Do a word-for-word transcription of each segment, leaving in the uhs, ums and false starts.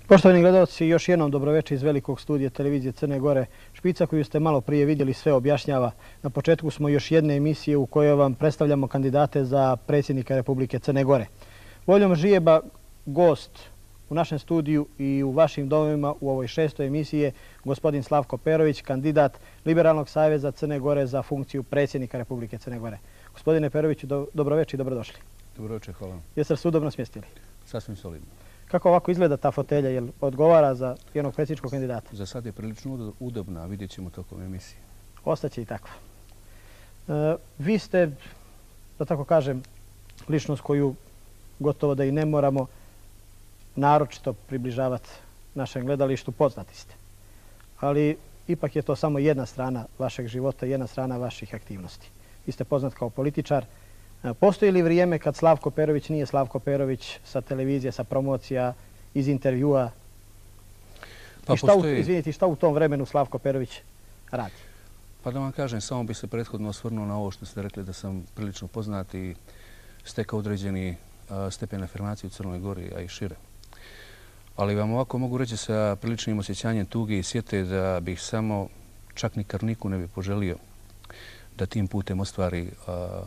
Poštovani gledalci, još jednom dobroveče iz velikog studija televizije Crne Gore. Špica koju ste malo prije vidjeli sve objašnjava. Na početku smo još jedne emisije u kojoj vam predstavljamo kandidate za predsjednika Republike Crne Gore. Voljom žijeba gost u našem studiju i u vašim domovima u ovoj šestoj emisiji je gospodin Slavko Perović, kandidat Liberalnog saveza Crne Gore za funkciju predsjednika Republike Crne Gore. Gospodine Peroviću, do, dobroveče i dobrodošli. Dobroveče, hvala vam. Jeste se udobno smjestili? Sasvim solidno. Kako ovako izgleda ta fotelja? Jel odgovara za jednog predsjedničkog kandidata? Za sad je prilično udobna, vidjet ćemo tokom emisije. Ostaće i takva. E, vi ste, da tako kažem, ličnost koju gotovo da i ne moramo naročito približavati našem gledalištu, poznati ste. Ali ipak je to samo jedna strana vašeg života, jedna strana vaših aktivnosti. Vi ste poznat kao političar. Postoji li vrijeme kad Slavko Perović nije Slavko Perović sa televizije, sa promocija, iz intervjua? Pa I šta, postoji... u, izvinite, šta u tom vremenu Slavko Perović radi? Pa da vam kažem, samo bi se prethodno osvrnuo na ovo što ste rekli da sam prilično poznat i stekao određeni a, stepen afirmacije u Crnoj Gori, a i šire. Ali vam ovako mogu reći sa priličnim osjećanjem tuge i sjete da bih samo čak ni Karniku ne bi poželio da tim putem ostvari a,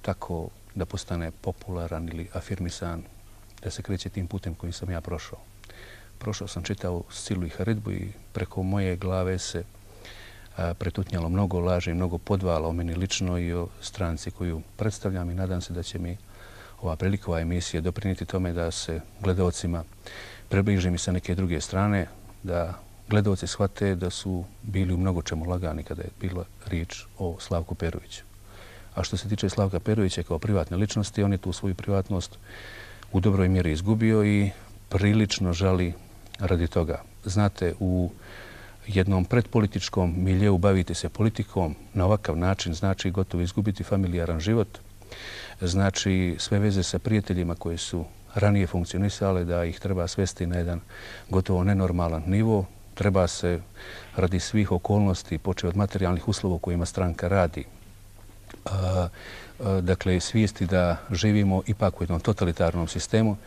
tako da postane popularan ili afirmisan, da se kreće tim putem kojim sam ja prošao. Prošao sam čitao silu i haridbu i preko moje glave se a, pretutnjalo mnogo laži, mnogo podvala o meni lično i o stranci koju predstavljam i nadam se da će mi ova prilika, ova emisija doprinijeti tome da se gledalcima približim i sa neke druge strane, da gledalci shvate da su bili u mnogo čemu lagani kada je bila riječ o Slavku Peroviću. A što se tiče Slavka Perovića kao privatne ličnosti, on je tu svoju privatnost u dobroj mjeri izgubio i prilično žali radi toga. Znate, u jednom predpolitičkom miljeu baviti se politikom na ovakav način znači gotovo izgubiti familijaran život, znači sve veze sa prijateljima koji su ranije funkcionisale da ih treba svesti na jedan gotovo nenormalan nivo. Treba se radi svih okolnosti, počeo od materijalnih uslova u kojima stranka radi, A, a, dakle, svijesti da živimo ipak u jednom totalitarnom sistemu,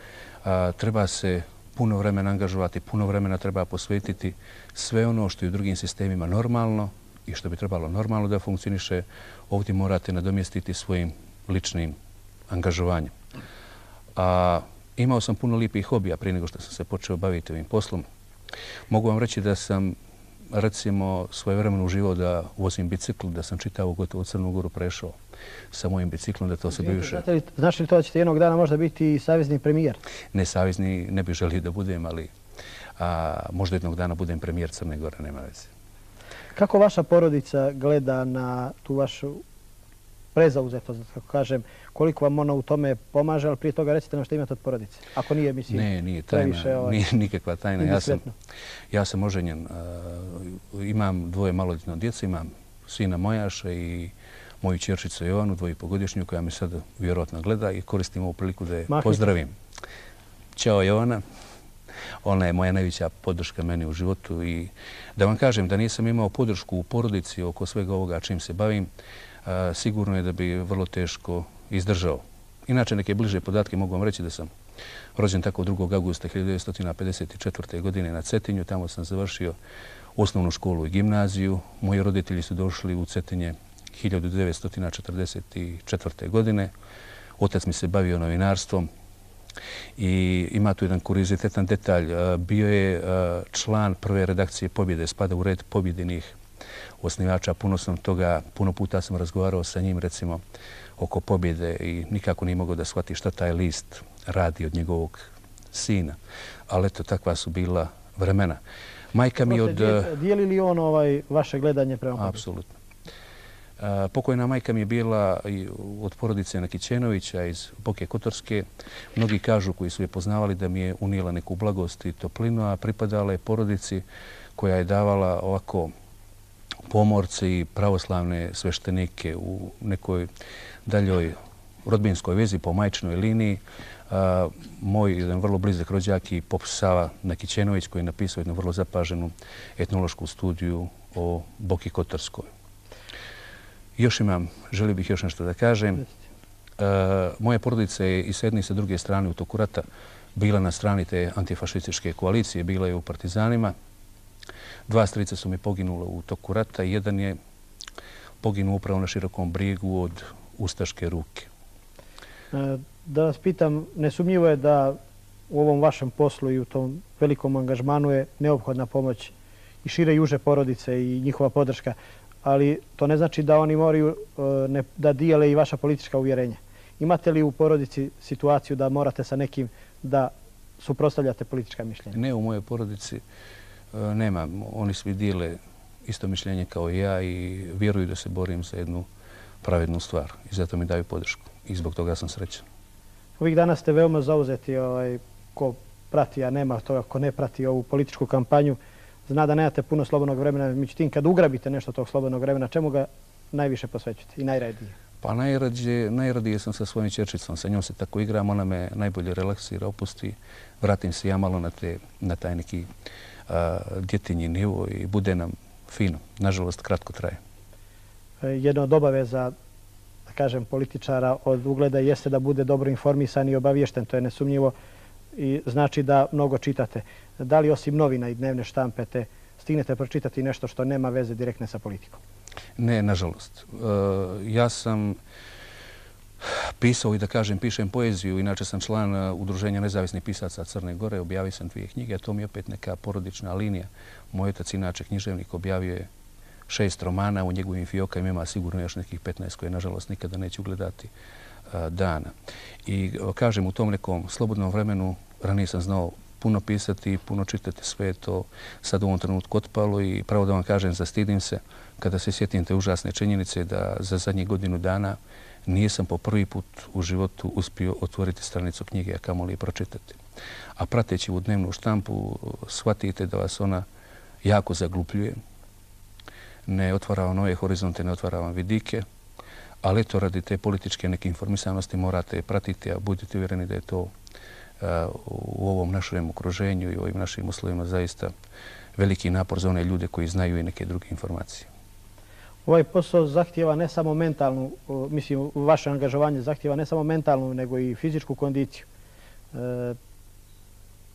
a, treba se puno vremena angažovati, puno vremena treba posvetiti sve ono što je u drugim sistemima normalno i što bi trebalo normalno da funkcioniše, ovdje morate nadomjestiti svojim ličnim angažovanjem. A, imao sam puno lijepih hobija prije nego što sam se počeo baviti ovim poslom. Mogu vam reći da sam recimo svoje vremeno uživao da vozim bicikl, da sam čitao gotovo Crnu Goru prešao sa mojim biciklom, da to se bivše... Znaš li to da ćete jednog dana možda biti i savezni premijer? Ne savezni, ne bih želio da budem, ali a, možda jednog dana budem premijer Crne Gore, nema veze. Kako vaša porodica gleda na tu vašu prezauzetost, kako kažem, koliko vam ona u tome pomaže, ali prije toga recite nam što imate od porodice, ako nije, mislim, ne, nije tajna, previše, ovaj, nije nikakva tajna. Ja sam, ja sam oženjen, uh, imam dvoje maloljetno djece, imam sina Mojaša i moju ćerčicu Jovanu, dvojipogodišnju, koja me sad vjerojatno gleda i koristim ovu priliku da je Mahite. Pozdravim. Ćao Jovana, ona je moja najveća podrška meni u životu i da vam kažem da nisam imao podršku u porodici oko svega ovoga čim se bavim, a, sigurno je da bi vrlo teško izdržao. Inače, neke bliže podatke mogu vam reći da sam rođen tako drugog augusta hiljadu devetsto pedeset četvrte. godine na Cetinju. Tamo sam završio osnovnu školu i gimnaziju. Moji roditelji su došli u Cetinje hiljadu devetsto četrdeset četvrte. godine. Otac mi se bavio novinarstvom i ima tu jedan kuriozitetan detalj. Bio je član prve redakcije Pobjede, spada u red pobjedinih osnivača. Puno sam toga, puno puta sam razgovarao sa njim, recimo, oko Pobjede i nikako nije mogao da shvati šta taj list radi od njegovog sina. Ali eto, takva su bila vremena. Majka mi od... Dijeli li on ovaj vaše gledanje prema Pobjedi? Apsolutno. Pokojna majka mi je bila od porodice Nakićenovića iz Boke Kotorske. Mnogi kažu koji su je poznavali da mi je unijela neku blagost i toplinu, a pripadala je porodici koja je davala ovako pomorce i pravoslavne sveštenike u nekoj daljoj rodbinskoj vezi po majčinoj liniji. Moj jedan vrlo blizak rođak i pop Sava Nakićenović koji je napisao jednu vrlo zapaženu etnološku studiju o Boki Kotorskoj. Još imam, želio bih još nešto da kažem. Moja porodica je i s jedne i sa druge strane u toku rata bila na strani te antifašističke koalicije, bila je u partizanima. Dva strica su mi poginula u toku rata i jedan je poginuo upravo na Širokom Brijegu od ustaške ruke. Da vas pitam, nesumnjivo je da u ovom vašem poslu i u tom velikom angažmanu je neophodna pomoć i šire i uže porodice i njihova podrška, ali to ne znači da oni moraju da dijele i vaša politička uvjerenja. Imate li u porodici situaciju da morate sa nekim da suprotstavljate politička mišljenja? Ne, u mojoj porodici nema. Oni svi dijele isto mišljenje kao i ja i vjeruju da se borim za jednu pravednu stvar i zato mi daju podršku i zbog toga sam srećan. Ovih dana ste veoma zauzeti, ko prati, a nema toga ko ne prati ovu političku kampanju, zna da nemate puno slobodnog vremena, međutim kad ugrabite nešto tog slobodnog vremena, čemu ga najviše posvećujete i najradije? Pa najradije sam sa svojim ćerčicom, sa njom se tako igram, ona me najbolje relaksira, opusti, vratim se ja malo na taj neki djetinji nivo i bude nam fino. Nažalost, kratko traje. Jedna od obaveza, da kažem, političara od ugleda jeste da bude dobro informisan i obaviješten. To je nesumnjivo i znači da mnogo čitate. Da li osim novina i dnevne štampe te stignete pročitati nešto što nema veze direktne sa politikom? Ne, nažalost. Ja sam pisao i da kažem, pišem poeziju. Inače sam član Udruženja nezavisnih pisaca Crne Gore. Objavio sam dvije knjige, a to mi je opet neka porodična linija. Moj otac, inače književnik, objavio je šest romana. U njegovim fiokama ima sigurno još nekih petnaest koje, nažalost, nikada neću ugledati dana. I kažem, u tom nekom slobodnom vremenu ranije sam znao puno pisati, puno čitati, sve je to sad u ovom trenutku otpalo i pravo da vam kažem, zastidim se kada se sjetim te užasne činjenice da za zadnjih godinu dana nisam po prvi put u životu uspio otvoriti stranicu knjige, a kamoli je pročitati. A prateći u dnevnu štampu shvatite da vas ona jako zaglupljuje, ne otvara vam nove horizonte, ne otvara vam vidike, ali eto radi te političke neke informisanosti morate pratiti, a budite uvjereni da je to u ovom našem okruženju i ovim našim uslovima zaista veliki napor za one ljude koji znaju i neke druge informacije. Ovaj posao zahtijeva ne samo mentalnu, mislim, vaše angažovanje zahtijeva ne samo mentalnu, nego i fizičku kondiciju.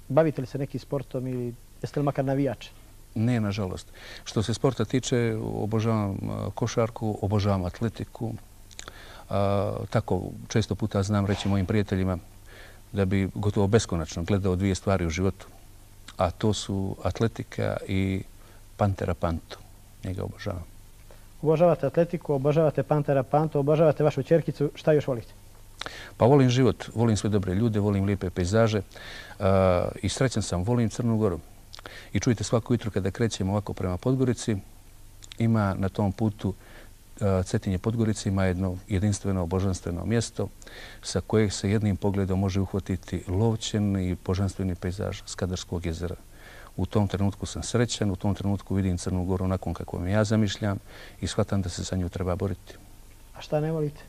Bavite li se nekim sportom ili jeste li makar navijač? Ne, nažalost. Što se sporta tiče, obožavam košarku, obožavam atletiku. Tako često puta znam reći mojim prijateljima da bi gotovo beskonačno gledao dvije stvari u životu, a to su atletika i Pantera Pantu. Njega obožavam. Obožavate atletiku, obožavate Pantera Pantu, obožavate vašu ćerkicu. Šta još volite? Pa volim život, volim sve dobre ljude, volim lijepe pejzaže i srećan sam, volim Crnu Goru. I čujte, svako jutro kada krećemo ovako prema Podgorici, ima na tom putu Cetinje Podgorice ima jedno jedinstveno božanstveno mjesto sa kojeg se jednim pogledom može uhvatiti lovčen i božanstveni pejzaž Skadarskog jezera. U tom trenutku sam srećan, u tom trenutku vidim Crnu Goru onakvom kako mi ja zamišljam i shvatam da se za nju treba boriti. A šta ne volite?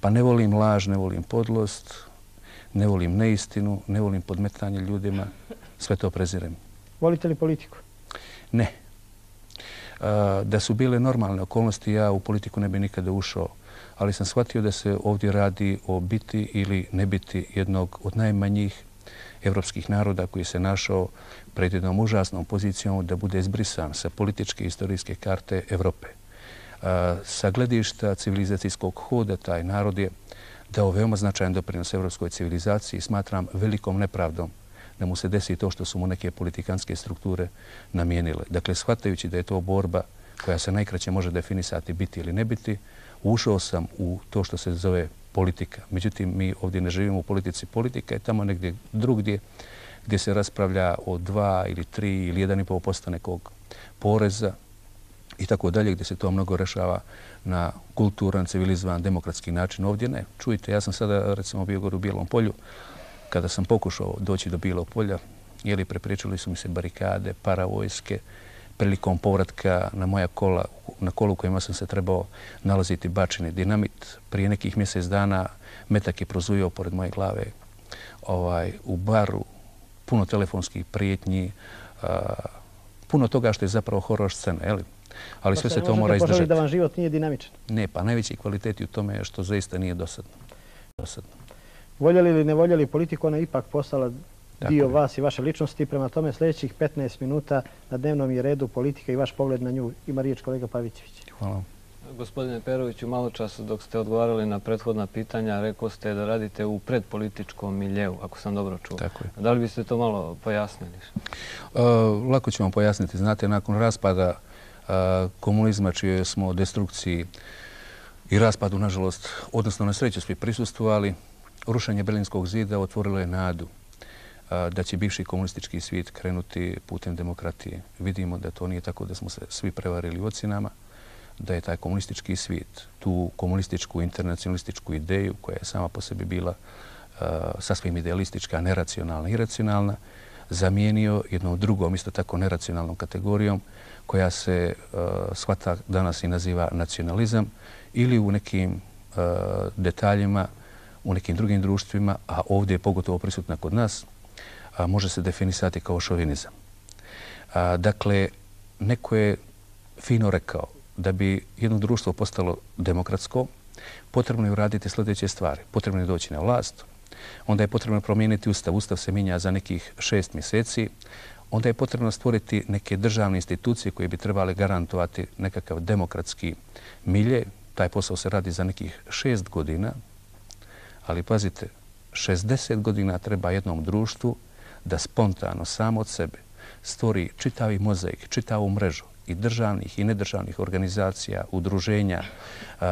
Pa ne volim laž, ne volim podlost, ne volim neistinu, ne volim podmetanje ljudima, sve to prezirem. Volite li politiku? Ne. Da su bile normalne okolnosti, ja u politiku ne bi nikada ušao, ali sam shvatio da se ovdje radi o biti ili ne biti jednog od najmanjih evropskih naroda koji se našao pred jednom užasnom pozicijom da bude izbrisan sa političke i istorijske karte Evrope. Sa gledišta civilizacijskog hoda taj narod je dao veoma značajan doprinos evropskoj civilizaciji i smatram velikom nepravdom da mu se desi to što su mu neke politikanske strukture namijenile. Dakle, shvatajući da je to borba koja se najkraće može definisati biti ili ne biti, ušao sam u to što se zove politika. Međutim, mi ovdje ne živimo u politici. Politika je tamo negdje drugdje gdje se raspravlja o dva ili tri ili jedan i pol posto nekog poreza i tako dalje, gdje se to mnogo rešava na kulturan, civilizovan, demokratski način. Ovdje ne. Čujte, ja sam sada recimo bio gore u Bijelom polju. Kada sam pokušao doći do Bijelog polja, jeli prepriječili su mi se barikade, paravojske, prilikom povratka na moja kola, na kolu kojima sam se trebao nalaziti bačeni dinamit. Prije nekih mjesec dana metak je prozujao pored moje glave ovaj, u baru, puno telefonskih prijetnji, uh, puno toga što je zapravo horor scena, jeli? Ali sve se to mora izdržati. Možete da vam život nije dinamičan? Ne, pa najveći kvalitet u tome je što zaista nije dosadno. dosadno. voljeli ili ne voljeli politiku, ona je ipak postala dio vas i vaše ličnosti. Prema tome, sljedećih petnaest minuta na dnevnom je redu politika i vaš pogled na nju. Ima riječ kolega Pavićević. Hvala. Gospodine Peroviću, malo čas dok ste odgovarali na prethodna pitanja, rekao ste da radite u predpolitičkom miljeu, ako sam dobro čuo. Tako je. Da li biste to malo pojasnili? Lako ću vam pojasniti. Znate, nakon raspada komunizma, čije smo destrukciji i raspadu, nažalost, odnosno na sreću svi prisustvovali, rušenje Berlinskog zida otvorilo je nadu da će bivši komunistički svijet krenuti putem demokratije. Vidimo da to nije tako, da smo se svi prevarili ocjenama, da je taj komunistički svijet, tu komunističku internacionalističku ideju koja je sama po sebi bila sasvim idealistička, neracionalna i iracionalna, zamijenio jednom drugom, isto tako neracionalnom kategorijom koja se shvata danas i naziva nacionalizam ili u nekim detaljima, u nekim drugim društvima, a ovdje je pogotovo prisutna kod nas, može se definisati kao šovinizam. Dakle, neko je fino rekao da bi jedno društvo postalo demokratsko, potrebno je uraditi sljedeće stvari. Potrebno je doći na vlast, onda je potrebno promijeniti ustav. Ustav se mijenja za nekih šest mjeseci. Onda je potrebno stvoriti neke državne institucije koje bi trebali garantovati nekakav demokratski milje. Taj posao se radi za nekih šest godina, ali pazite, šezdeset godina treba jednom društvu da spontano, samo od sebe, stvori čitavi mozaik, čitavu mrežu i državnih i nedržavnih organizacija, udruženja,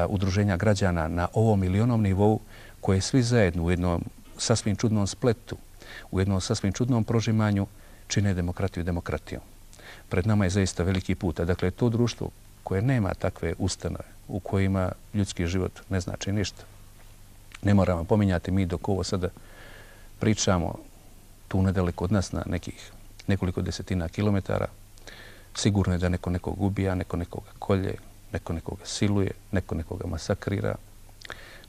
udruženja građana na ovom ili onom nivou, koje svi zajedno u jednom sasvim čudnom spletu, u jednom sasvim čudnom prožimanju čine demokratiju demokratijom. Pred nama je zaista veliki put. Dakle, to društvo koje nema takve ustanove, u kojima ljudski život ne znači ništa. Ne moramo pominjati mi dok ovo sada pričamo tu nedaleko od nas na nekih nekoliko desetina kilometara. Sigurno je da neko nekog ubija, neko nekoga kolje, neko nekoga siluje, neko nekoga masakrira,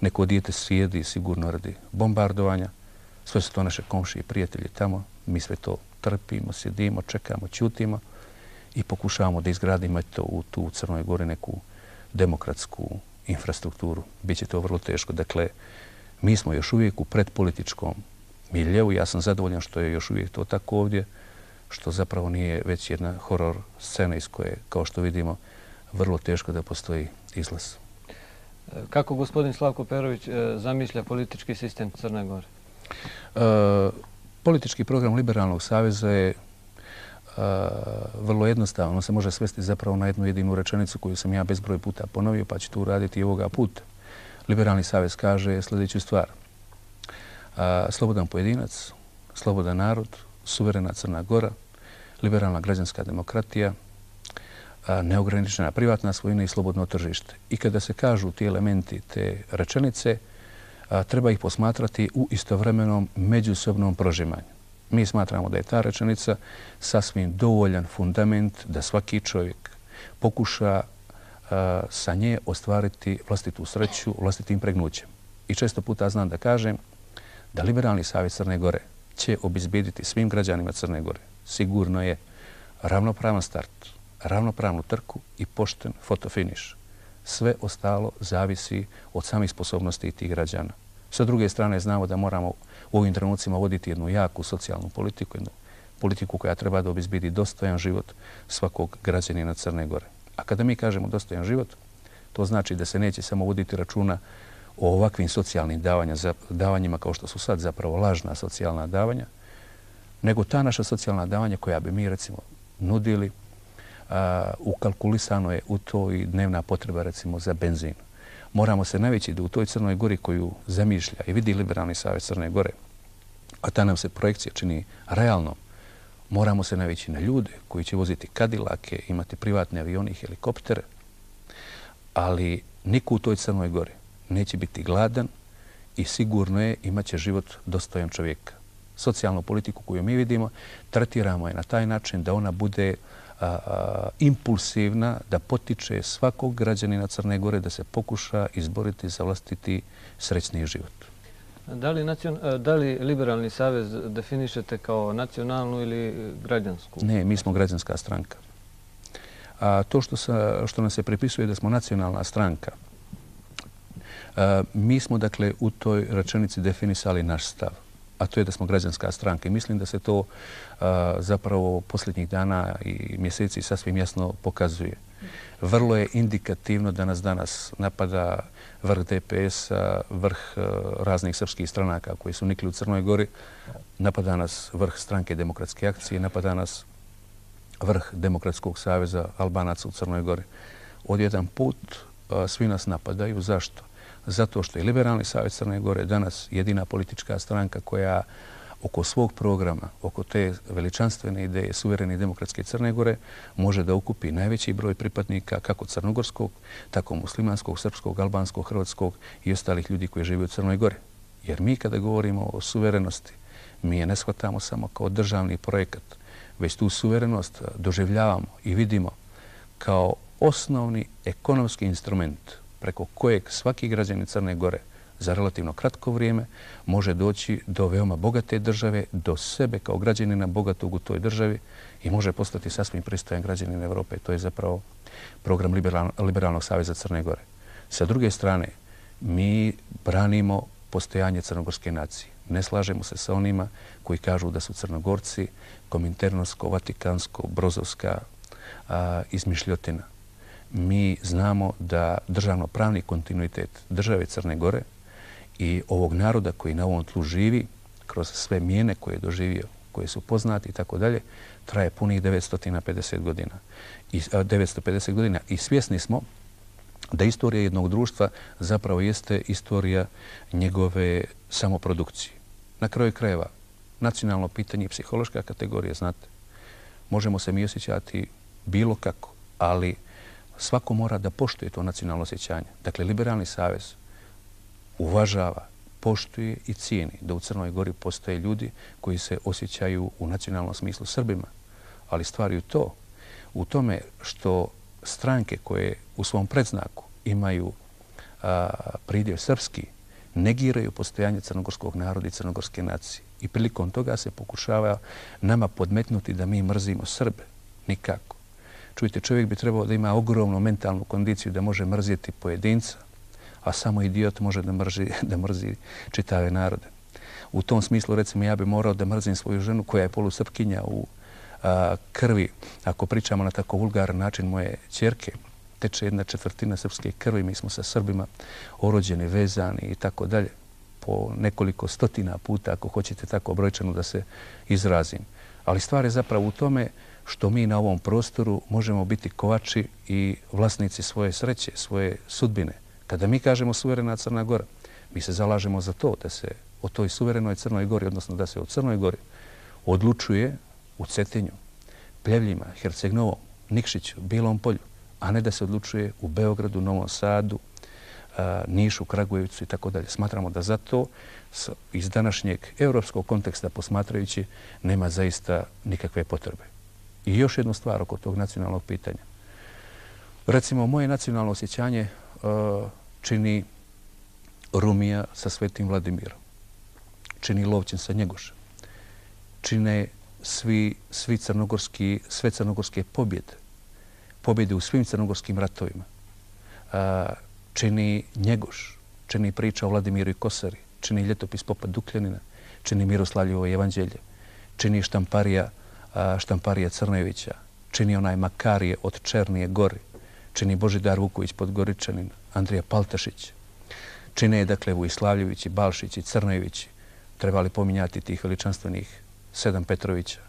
neko dijete sjedi sigurno radi bombardovanja. Sve su to naše komšije i prijatelji tamo. Mi sve to trpimo, sjedimo, čekamo, ćutimo i pokušavamo da izgradimo to u tu u Crnoj Gori neku demokratsku infrastrukturu. Biće to vrlo teško. Dakle, mi smo još uvijek u predpolitičkom miljeu. Ja sam zadovoljan što je još uvijek to tako ovdje, što zapravo nije već jedna horor scena iz koje, kao što vidimo, vrlo teško da postoji izlaz. Kako gospodin Slavko Perović zamišlja politički sistem Crne Gore? E, politički program Liberalnog saveza je e, vrlo jednostavan. On se može svesti zapravo na jednu jedinu rečenicu koju sam ja bezbroj puta ponovio, pa ću to uraditi i ovoga puta. Liberalni savez kaže sljedeću stvar. A, slobodan pojedinac, slobodan narod, suverena Crna Gora, liberalna građanska demokratija, a, neograničena privatna svojina i slobodno tržište. I kada se kažu ti elementi te rečenice, a, treba ih posmatrati u istovremenom međusobnom prožimanju. Mi smatramo da je ta rečenica sasvim dovoljan fundament da svaki čovjek pokuša a, sa nje ostvariti vlastitu sreću, vlastitim pregnućem. I često puta znam da kažem da Liberalni savez Crne Gore će obezbijediti svim građanima Crne Gore sigurno je ravnopravan start, ravnopravnu trku i pošten fotofiniš. Sve ostalo zavisi od samih sposobnosti tih građana. Sa druge strane, znamo da moramo u ovim trenucima voditi jednu jaku socijalnu politiku, jednu politiku koja treba da obezbijedi dostojan život svakog građanina Crne Gore. A kada mi kažemo dostojan život, to znači da se neće samo voditi računa o ovakvim socijalnim davanjima kao što su sad zapravo lažna socijalna davanja, nego ta naša socijalna davanja koja bi mi recimo nudili, a, ukalkulisano je u to i dnevna potreba recimo za benzin. Moramo se navići da u toj Crnoj Gori koju zamišlja i vidi Liberalni savez Crne Gore, a ta nam se projekcija čini realnom, moramo se navići na ljude koji će voziti kadilake, imati privatne avione i helikoptere, ali niko u toj Crnoj Gori neće biti gladan i sigurno je imat će život dostojan čovjeka. Socijalnu politiku koju mi vidimo tretiramo je na taj način da ona bude a, a, impulsivna, da potiče svakog građanina Crne Gore da se pokuša izboriti za vlastiti srećniji život. Da li, nacion, da li Liberalni savez definišete kao nacionalnu ili građansku? Ne, mi smo građanska stranka. A to što, sa, što nam se pripisuje da smo nacionalna stranka, Mi smo, dakle, u toj rečenici definisali naš stav, a to je da smo građanska stranka. I mislim da se to zapravo posljednjih dana i mjeseci sasvim jasno pokazuje. Vrlo je indikativno da nas danas napada vrh D P S-a, vrh raznih srpskih stranaka koji su nikli u Crnoj Gori, napada nas vrh Stranke demokratske akcije, napada nas vrh Demokratskog saveza Albanaca u Crnoj Gori. Od jedan put svi nas napadaju. Zašto? Zato što je Liberalni savez Crne Gore danas jedina politička stranka koja oko svog programa, oko te veličanstvene ideje suverene i demokratske Crne Gore može da ukupi najveći broj pripadnika kako crnogorskog, tako muslimanskog, srpskog, albanskog, hrvatskog i ostalih ljudi koji žive u Crnoj Gori. Jer mi kada govorimo o suverenosti, mi je ne shvatamo samo kao državni projekat, već tu suverenost doživljavamo i vidimo kao osnovni ekonomski instrument preko kojeg svaki građanin Crne Gore za relativno kratko vrijeme može doći do veoma bogate države, do sebe kao građanina bogatog u toj državi i može postati sasvim pristojan građanin Evrope. To je zapravo program Liberalnog saveza Crne Gore. Sa druge strane, mi branimo postojanje crnogorske nacije. Ne slažemo se sa onima koji kažu da su Crnogorci kominternovsko, vatikansko, brozovska a, izmišljotina. Mi znamo da državno-pravni kontinuitet države Crne Gore i ovog naroda koji na ovom tlu živi, kroz sve mijene koje je doživio, koje su poznati i tako dalje, traje punih devetsto pedeset godina. I, a, devetsto pedeset godina. I svjesni smo da istorija jednog društva zapravo jeste istorija njegove samoprodukcije. Na kraju krajeva, nacionalno pitanje i psihološka kategorija, znate, možemo se mi osjećati bilo kako, ali svako mora da poštuje to nacionalno osjećanje. Dakle, Liberalni savez uvažava, poštuje i cijeni da u Crnoj Gori postoje ljudi koji se osjećaju u nacionalnom smislu Srbima. Ali stvar je to, u tome što stranke koje u svom predznaku imaju a, pridjev srpski, negiraju postojanje crnogorskog naroda i crnogorske nacije. I prilikom toga se pokušava nama podmetnuti da mi mrzimo Srbe. Nikako. Čujte, čovjek bi trebao da ima ogromnu mentalnu kondiciju da može mrziti pojedinca, a samo idiot može da mrzi, da mrzi čitave narode. U tom smislu, recimo, ja bi morao da mrzim svoju ženu koja je polusrpkinja u a, krvi. Ako pričamo na tako vulgaran način, moje ćerke, teče jedna četvrtina srpske krvi, mi smo sa Srbima orođeni, vezani i tako dalje. Po nekoliko stotina puta, ako hoćete tako brojčano da se izrazim. Ali stvar je zapravo u tome što mi na ovom prostoru možemo biti kovači i vlasnici svoje sreće, svoje sudbine. Kada mi kažemo suverena Crna Gora, mi se zalažemo za to da se o toj suverenoj Crnoj Gori, odnosno da se o Crnoj Gori odlučuje u Cetinju, Pljevljima, Herceg-Novom, Nikšiću, Bilom Polju, a ne da se odlučuje u Beogradu, Novom Sadu, Nišu, Kragujevcu i tako dalje. Smatramo da za to iz današnjeg europskog konteksta posmatrajući nema zaista nikakve potrebe. I još jednu stvar oko tog nacionalnog pitanja. Recimo, moje nacionalno osjećanje čini Rumija sa Svetim Vladimirom, čini Lovćen sa Njegošem, čine svi, svi crnogorski, sve crnogorske pobjede, pobjede u svim crnogorskim ratovima, čini Njegoš, čini priča o Vladimiru i Kosari, čini ljetopis Popa Dukljanina, čini Miroslavljevo evanđelje, čini štamparija, štamparija Crnojevića, čini onaj Makarije od Černije Gori, čini Božidar Vuković Podgoričanin, Andrija Paltašić, čine, dakle, Vujislavljevići, Balšići, Crnojevići, trebali pominjati tih veličanstvenih sedam Petrovića.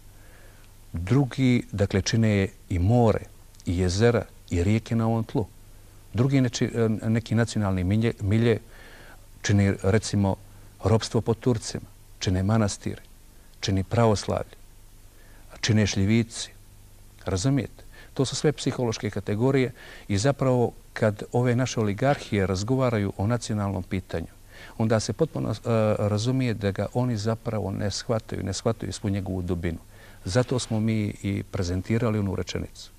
Drugi, dakle, čine i more, i jezera, i rijeke na ovom tlu. Drugi neki nacionalni milje, milje čini, recimo, ropstvo pod Turcima, čine manastiri, čini pravoslavlje, čine šljivici. Razumijete? To su sve psihološke kategorije i zapravo kad ove naše oligarhije razgovaraju o nacionalnom pitanju, onda se potpuno uh, razumije da ga oni zapravo ne shvataju, ne shvataju svu njegovu dubinu. Zato smo mi i prezentirali onu rečenicu.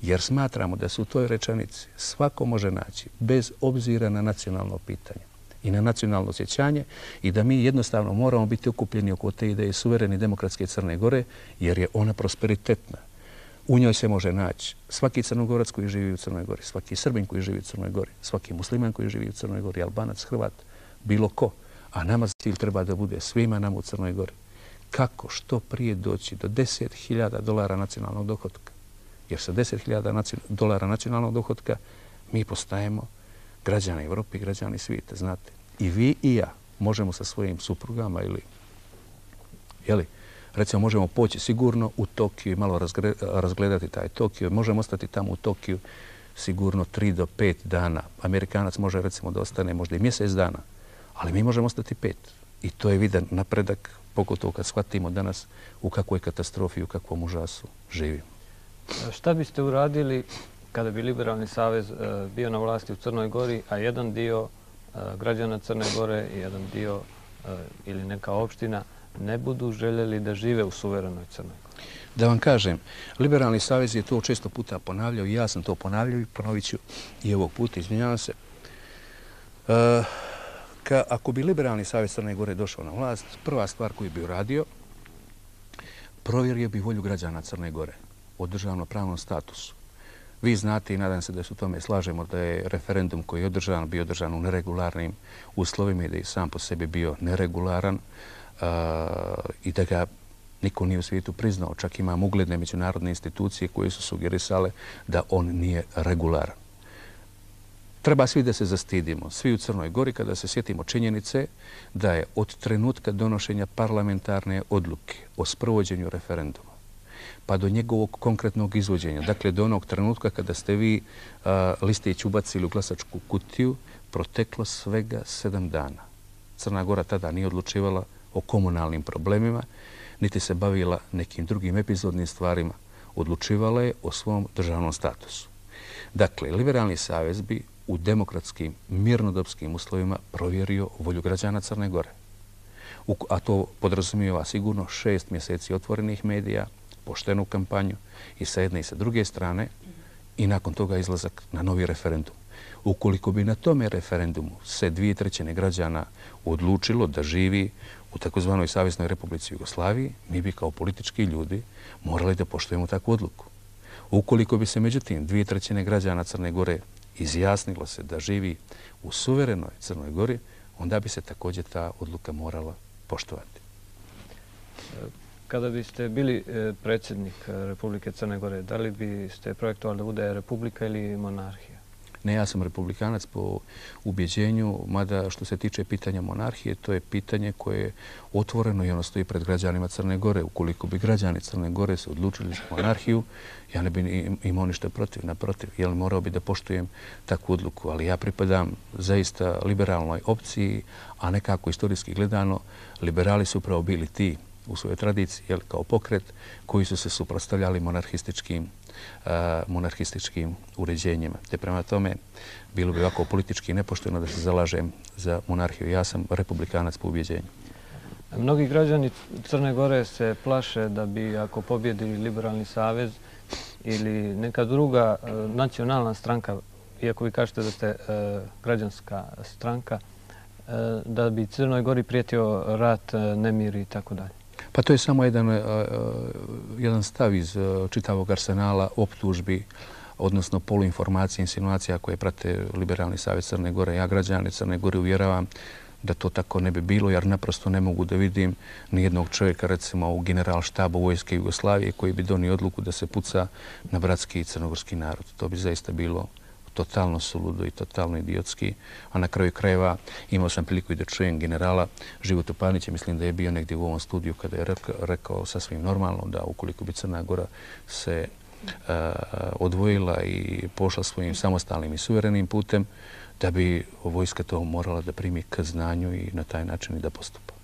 Jer smatramo da se u toj rečenici svako može naći bez obzira na nacionalno pitanje i na nacionalno osjećanje i da mi jednostavno moramo biti okupljeni oko te ideje suverene demokratske Crne Gore jer je ona prosperitetna. U njoj se može naći svaki Crnogorac koji živi u Crnoj Gori, svaki Srbin koji živi u Crnoj Gori, svaki musliman koji živi u Crnoj Gori, Albanac, Hrvat, bilo ko. A nama cilj treba da bude svima nama u Crnoj Gori. Kako što prije doći do deset hiljada dolara nacionalnog dohotka? Jer sa deset hiljada dolara nacionalnog dohotka mi postajemo građani Evrope i građani svijeta, znate. I vi i ja možemo sa svojim suprugama ili, jeli, recimo možemo poći sigurno u Tokiju i malo razgledati taj Tokio. Možemo ostati tamo u Tokiju sigurno tri do pet dana. Amerikanac može recimo da ostane možda i mjesec dana, ali mi možemo ostati pet. I to je vidan napredak, pogotovo kad shvatimo danas u kakvoj katastrofi i u kakvom užasu živimo. Šta biste uradili kada bi Liberalni savez bio na vlasti u Crnoj Gori, a jedan dio građana Crne Gore i jedan dio ili neka opština ne budu željeli da žive u suverenoj Crnoj Gori? Da vam kažem, Liberalni savez je to često puta ponavljao i ja sam to ponavljao i ponovit ću i ovog puta, izvinjavam se. Ako bi Liberalni savez Crne Gore došao na vlast, prva stvar koju bi uradio, provjerio bi volju građana Crne Gore o državno-pravnom statusu. Vi znate i nadam se da se u tome slažemo da je referendum koji je održan bio održan u neregularnim uslovima i da je sam po sebi bio neregularan i da ga niko nije u svijetu priznao. Čak imamo ugledne međunarodne institucije koje su sugerisale da on nije regularan. Treba svi da se zastidimo, svi u Crnoj Gori, kada se sjetimo činjenice da je od trenutka donošenja parlamentarne odluke o sprovođenju referenduma pa do njegovog konkretnog izvođenja, dakle do onog trenutka kada ste vi listić ubacili u glasačku kutiju, proteklo svega sedam dana. Crna Gora tada nije odlučivala o komunalnim problemima, niti se bavila nekim drugim epizodnim stvarima. Odlučivala je o svom državnom statusu. Dakle, Liberalni savez bi u demokratskim, mirnodopskim uslovima provjerio volju građana Crne Gore. A to podrazumijeva sigurno šest mjeseci otvorenih medija, poštenu kampanju i sa jedne i sa druge strane i nakon toga izlazak na novi referendum. Ukoliko bi na tome referendumu se dvije trećine građana odlučilo da živi u takozvanoj Saveznoj Republici Jugoslaviji, mi bi kao politički ljudi morali da poštujemo takvu odluku. Ukoliko bi se međutim dvije trećine građana Crne Gore izjasnilo se da živi u suverenoj Crnoj Gori, onda bi se također ta odluka morala poštovati. Kada biste bili predsjednik Republike Crne Gore, da li biste projektovali da bude republika ili monarhija? Ne, ja sam republikanac po ubjeđenju, mada što se tiče pitanja monarhije, to je pitanje koje je otvoreno i ono stoji pred građanima Crne Gore. Ukoliko bi građani Crne Gore se odlučili za monarhiju, ja ne bi imao ništa protiv, naprotiv, jer morao bi da poštujem takvu odluku. Ali ja pripadam zaista liberalnoj opciji, a nekako istorijski gledano, liberali su upravo bili ti u svojoj tradiciji, jel, kao pokret koji su se suprotstavljali monarhističkim monarhističkim uređenjima. Te prema tome bilo bi ovako politički nepošteno da se zalažem za monarhiju. Ja sam republikanac po ubjeđenju. Mnogi građani Crne Gore se plaše da bi ako pobjedi Liberalni savez ili neka druga nacionalna stranka, iako vi kažete da ste građanska stranka, da bi Crnoj Gori prijetio rat, nemir i tako dalje. Pa to je samo jedan, jedan stav iz čitavog arsenala optužbi, odnosno poluinformacija, insinuacija koje prate Liberalni savez Crne Gore. Ja građane Crne Gore uvjeravam da to tako ne bi bilo, jer naprosto ne mogu da vidim nijednog čovjeka, recimo u generalštabu Vojske Jugoslavije, koji bi donio odluku da se puca na bratski i crnogorski narod. To bi zaista bilo totalno suludo i totalno idiotski. A na kraju krajeva imao sam priliku i da čujem generala Životu Panića, mislim da je bio negdje u ovom studiju kada je rekao sasvim normalno da ukoliko bi Crna Gora se odvojila i pošla svojim samostalnim i suverenim putem, da bi vojska to morala da primi k znanju i na taj način i da postupa.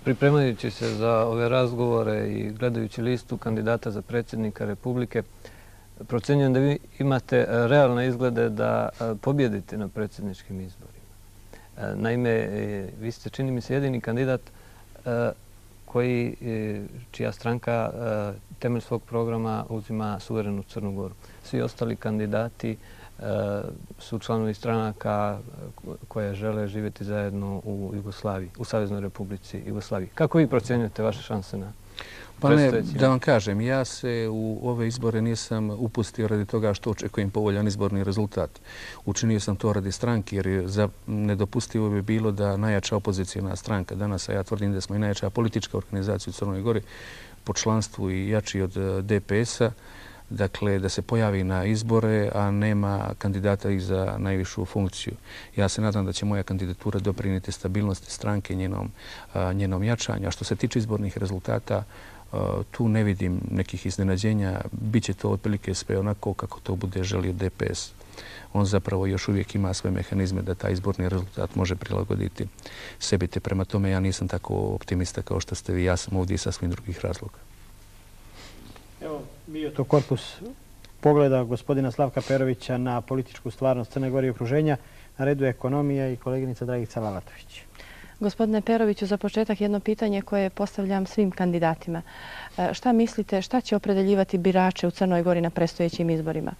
Pripremajući se za ove razgovore i gledajući listu kandidata za predsjednika Republike, procenjujem da vi imate realne izglede da pobjedite na predsjedničkim izborima. Naime, vi ste, čini mi se, jedini kandidat koji, čija stranka temelj svog programa uzima suverenu Crnu Goru. Svi ostali kandidati su članovi stranaka koje žele živjeti zajedno u Jugoslaviji, u Saveznoj Republici Jugoslaviji. Kako vi procjenjujete vaše šanse na... Pa ne, da vam kažem, ja se u ove izbore nisam upustio radi toga što očekujem povoljan izborni rezultat. Učinio sam to radi stranke jer za nedopustivo bi bilo da najjača opozicijna stranka danas, a ja tvrdim da smo i najjača politička organizacija u Crnoj Gori po članstvu i jači od D P S-a, dakle da se pojavi na izbore, a nema kandidata i za najvišu funkciju. Ja se nadam da će moja kandidatura doprinijeti stabilnosti stranke, njenom, njenom jačanju. A što se tiče izbornih rezultata, tu ne vidim nekih iznenađenja. Biće to otprilike sve onako kako to bude želio D P S. On zapravo još uvijek ima sve mehanizme da taj izborni rezultat može prilagoditi sebi. Te prema tome ja nisam tako optimista kao što ste vi. Ja sam ovdje sa svim drugih razloga. Evo, bio to korpus pogleda gospodina Slavka Perovića na političku stvarnost Crne Gore i okruženja. Na redu je ekonomija i koleginica Dragica Lalatović. Gospodine Peroviću, za početak jedno pitanje koje postavljam svim kandidatima. Šta mislite, šta će opredeljivati birače u Crnoj Gori na predstojećim izborima?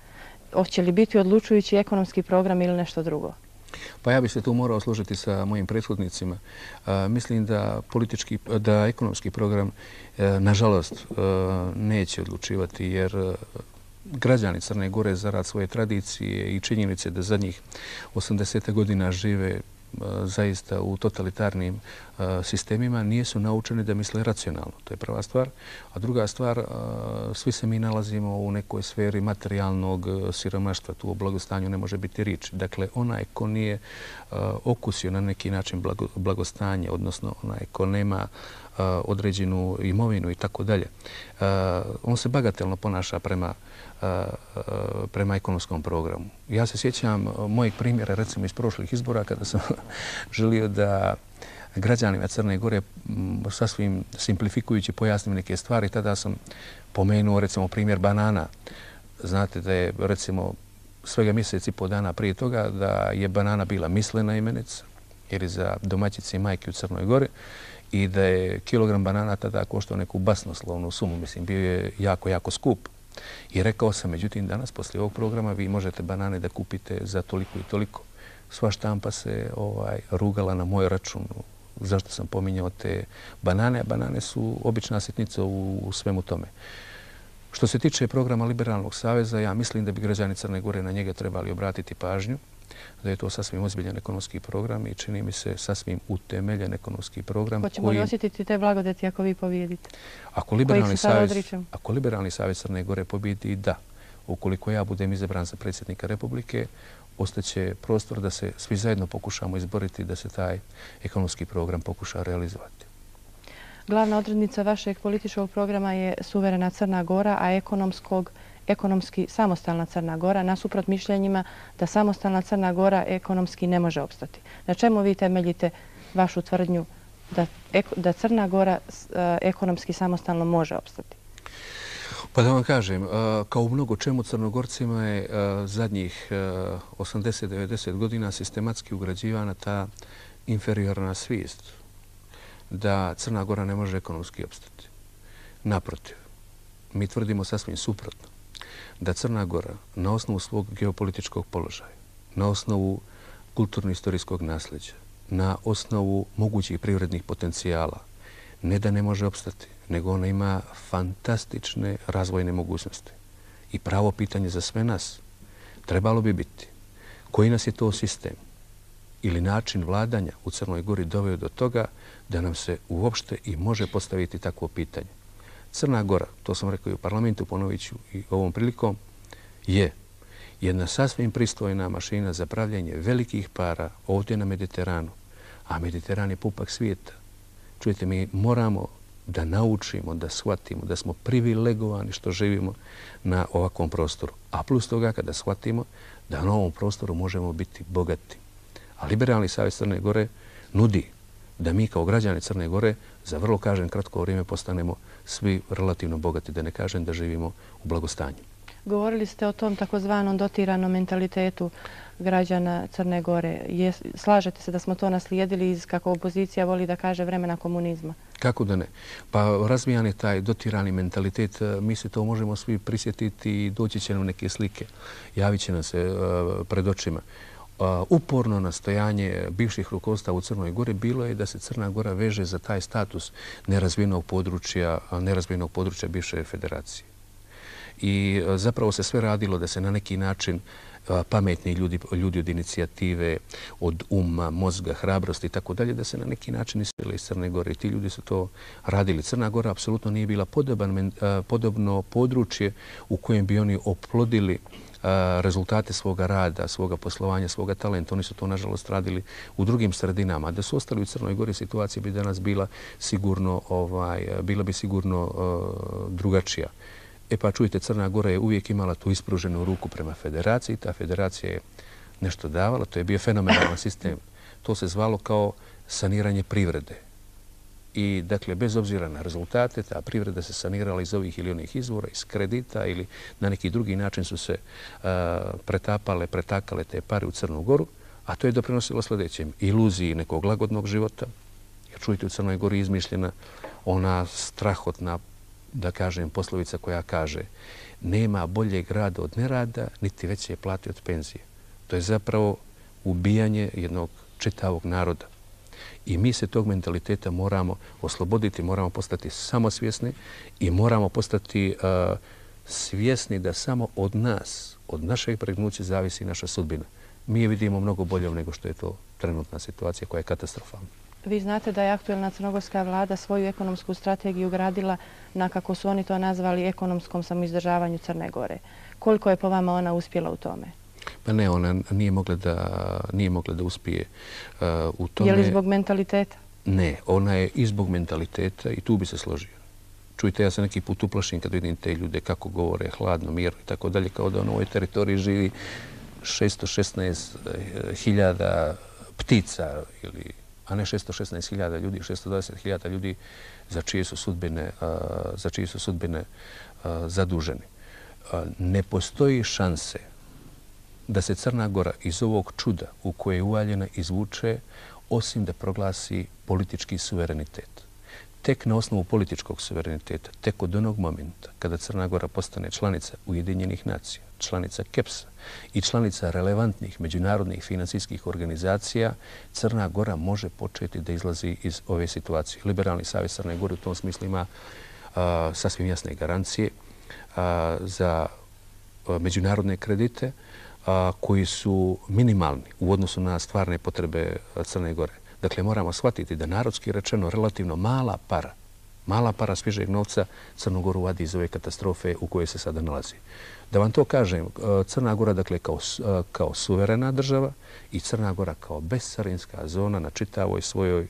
Hoće li biti odlučujući ekonomski program ili nešto drugo? Pa ja bih se tu morao složiti sa mojim prethodnicima. Mislim da politički, da ekonomski program, nažalost, neće odlučivati jer građani Crne Gore zarad svoje tradicije i činjenice da zadnjih osamdeset godina žive zaista u totalitarnim sistemima, nisu naučeni da misle racionalno. To je prva stvar. A druga stvar, svi se mi nalazimo u nekoj sferi materijalnog siromaštva. Tu o blagostanju ne može biti riječ. Dakle, onaj ko nije okusio na neki način blagostanje, odnosno onaj ko nema određenu imovinu i tako dalje, on se bagatelno ponaša prema prema ekonomskom programu. Ja se sjećam mojeg primjera, recimo iz prošlih izbora, kada sam želio da građanima Crne Gore sasvim simplifikujući pojasnim neke stvari, tada sam pomenuo recimo primjer banana. Znate da je recimo svega mjesec i po dana prije toga da je banana bila mislena imenica, jer je za domaćice i majke u Crnoj Gori, i da je kilogram banana tada koštao neku basnoslovnu sumu. Mislim, bio je jako, jako skup. I rekao sam, međutim, danas, poslije ovog programa, vi možete banane da kupite za toliko i toliko. Sva štampa se ovaj, rugala na moj račun. Zašto sam pominjao te banane? A banane su obična sitnica u, u svemu tome. Što se tiče programa Liberalnog saveza, ja mislim da bi građani Crne Gore na njega trebali obratiti pažnju, da je to sasvim ozbiljan ekonomski program i čini mi se sasvim utemeljen ekonomski program. Hoćemo li osjetiti te blagodeti ako vi pobijedite? Ako Liberalni savez, ako Liberalni savez Crne Gore pobijedi, da. Ukoliko ja budem izabran za predsjednika Republike, ostaće prostor da se svi zajedno pokušamo izboriti da se taj ekonomski program pokuša realizovati. Glavna odrednica vašeg političkog programa je suverena Crna Gora, a ekonomskog ekonomski samostalna Crna Gora, nasuprot mišljenjima da samostalna Crna Gora ekonomski ne može opstati. Na čemu vi temeljite vašu tvrdnju da, da Crna Gora ekonomski samostalno može opstati? Pa da vam kažem, kao u mnogo čemu Crnogorcima je zadnjih osamdeset do devedeset godina sistematski ugrađivana ta inferiorna svijest da Crna Gora ne može ekonomski opstati. Naprotiv, mi tvrdimo sasvim suprotno. Da Crna Gora na osnovu svog geopolitičkog položaja, na osnovu kulturno-istorijskog nasljeđa, na osnovu mogućih privrednih potencijala, ne da ne može opstati, nego ona ima fantastične razvojne mogućnosti. I pravo pitanje za sve nas trebalo bi biti koji nas je to sistem ili način vladanja u Crnoj Gori doveo do toga da nam se uopšte i može postaviti takvo pitanje. Crna Gora, to sam rekao i u parlamentu, ponovit ću i ovom prilikom, je jedna sasvim pristojna mašina za pravljanje velikih para ovdje na Mediteranu, a Mediteran je pupak svijeta. Čujete, mi moramo da naučimo, da shvatimo da smo privilegovani što živimo na ovakvom prostoru. A plus toga kada shvatimo da na ovom prostoru možemo biti bogati. A Liberalni savez Crne Gore nudi da mi kao građani Crne Gore za vrlo, kažem, kratko vrijeme postanemo svi relativno bogati, da ne kažem da živimo u blagostanju. Govorili ste o tom takozvanom dotiranom mentalitetu građana Crne Gore. Je, slažete se da smo to naslijedili iz, kako opozicija voli da kaže, vremena komunizma? Kako da ne? Pa razvijan je taj dotirani mentalitet. Mi se to možemo svi prisjetiti i doći će nam neke slike. Javit će nam se uh, pred očima. uporno nastojanje bivših rukovodstava u Crnoj Gori bilo je da se Crna Gora veže za taj status nerazvijenog područja, nerazvijenog područja bivše federacije. I zapravo se sve radilo da se na neki način pametni ljudi, ljudi od inicijative, od uma, mozga, hrabrosti i tako dalje, da se na neki način isele iz Crne Gore. I ti ljudi su to radili. Crna Gora apsolutno nije bila podoban, podobno područje u kojem bi oni oplodili rezultate svoga rada, svoga poslovanja, svoga talenta. Oni su to, nažalost, radili u drugim sredinama. Da su ostali u Crnoj Gori, situacija bi danas bila sigurno, ovaj, bila bi sigurno uh, drugačija. E pa čujte, Crna Gora je uvijek imala tu ispruženu ruku prema federaciji. Ta federacija je nešto davala. To je bio fenomenalan sistem. To se zvalo kao saniranje privrede. I, dakle, bez obzira na rezultate, ta privreda se sanirala iz ovih ili onih izvora, iz kredita ili na neki drugi način su se uh, pretapale, pretakale te pare u Crnu Goru, a to je doprinosilo sljedećem: iluziji nekog lagodnog života. Jer čujte, u Crnoj Gori izmišljena ona strahotna, da kažem, poslovica koja kaže: nema boljeg rada od nerada, niti veće plate od penzije. To je zapravo ubijanje jednog čitavog naroda. I mi se tog mentaliteta moramo osloboditi, moramo postati samosvjesni i moramo postati uh, svjesni da samo od nas, od našeg pregnuća zavisi naša sudbina. Mi je vidimo mnogo boljom nego što je to trenutna situacija koja je katastrofalna. Vi znate da je aktuelna crnogorska vlada svoju ekonomsku strategiju gradila na, kako su oni to nazvali, ekonomskom samoizdržavanju Crne Gore. Koliko je po vama ona uspjela u tome? Pa ne, ona nije mogla da, nije mogla da uspije uh, u tome. Je li zbog mentaliteta? Ne, ona je i zbog mentaliteta i tu bi se složio. Čujte, ja se neki put uplašim kad vidim te ljude kako govore, hladno, mirno i tako dalje, kao da na ovoj teritoriji živi šesto šesnaest hiljada ptica, ili, a ne šesto šesnaest hiljada ljudi, šesto dvadeset hiljada ljudi za čije su sudbine, uh, za čije su sudbine uh, zaduženi. Uh, ne postoji šanse da se Crna Gora iz ovog čuda u koje je uvaljena izvuče, osim da proglasi politički suverenitet. Tek na osnovu političkog suvereniteta, tek od onog momenta kada Crna Gora postane članica Ujedinjenih nacija, članica KEPS-a i članica relevantnih međunarodnih financijskih organizacija, Crna Gora može početi da izlazi iz ove situacije. Liberalni savez Crne Gore u tom smislu ima uh, sasvim jasne garancije uh, za uh, međunarodne kredite koji su minimalni u odnosu na stvarne potrebe Crne Gore. Dakle, moramo shvatiti da narodski rečeno relativno mala para, mala para svježeg novca Crnu Goru vadi iz ove katastrofe u kojoj se sada nalazi. Da vam to kažem, Crna Gora, dakle, kao, kao suverena država i Crna Gora kao bezcarinska zona na čitavoj svojoj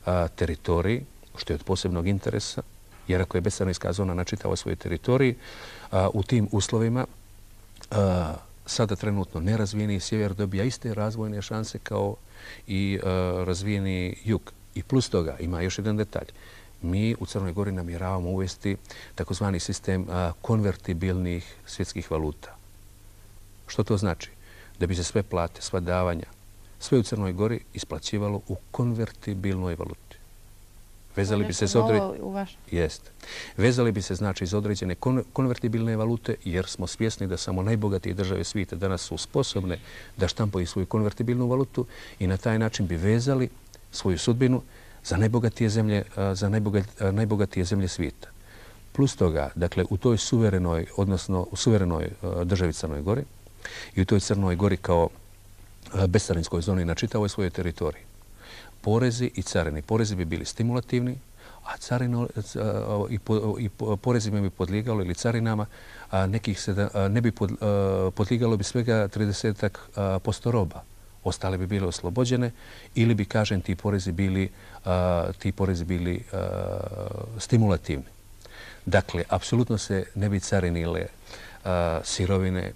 a, teritoriji, što je od posebnog interesa, jer ako je bezcarinska zona na čitavoj svojoj teritoriji, a, u tim uslovima a, sada trenutno nerazvijeni sjever dobija iste razvojne šanse kao i uh, razvijeni jug. I plus toga ima još jedan detalj. Mi u Crnoj Gori namjeravamo uvesti takozvani sistem uh, konvertibilnih svjetskih valuta. Što to znači? Da bi se sve plate, sva davanja, sve u Crnoj Gori isplaćivalo u konvertibilnoj valuti. Vezali bi se za određene... Jeste. Vezali bi se, znači, za određene konvertibilne valute, jer smo svjesni da samo najbogatije države svijeta danas su sposobne da štampaju svoju konvertibilnu valutu i na taj način bi vezali svoju sudbinu za najbogatije zemlje, za najbogatije zemlje svijeta. Plus toga, dakle, u toj suverenoj, odnosno u suverenoj državi Crnoj Gori i u toj Crnoj Gori kao bezcarinskoj zoni na čitavoj svojoj teritoriji, porezi i carine. Porezi bi bili stimulativni, a carino, i, po, i porezima bi podlijegalo ili carinama a nekih sedam, a ne bi pod, a, podlijegalo bi svega trideset posto roba. Ostale bi bile oslobođene ili bi, kažem, ti porezi bili, a, ti porezi bili a, stimulativni. Dakle, apsolutno se ne bi carinile a, sirovine,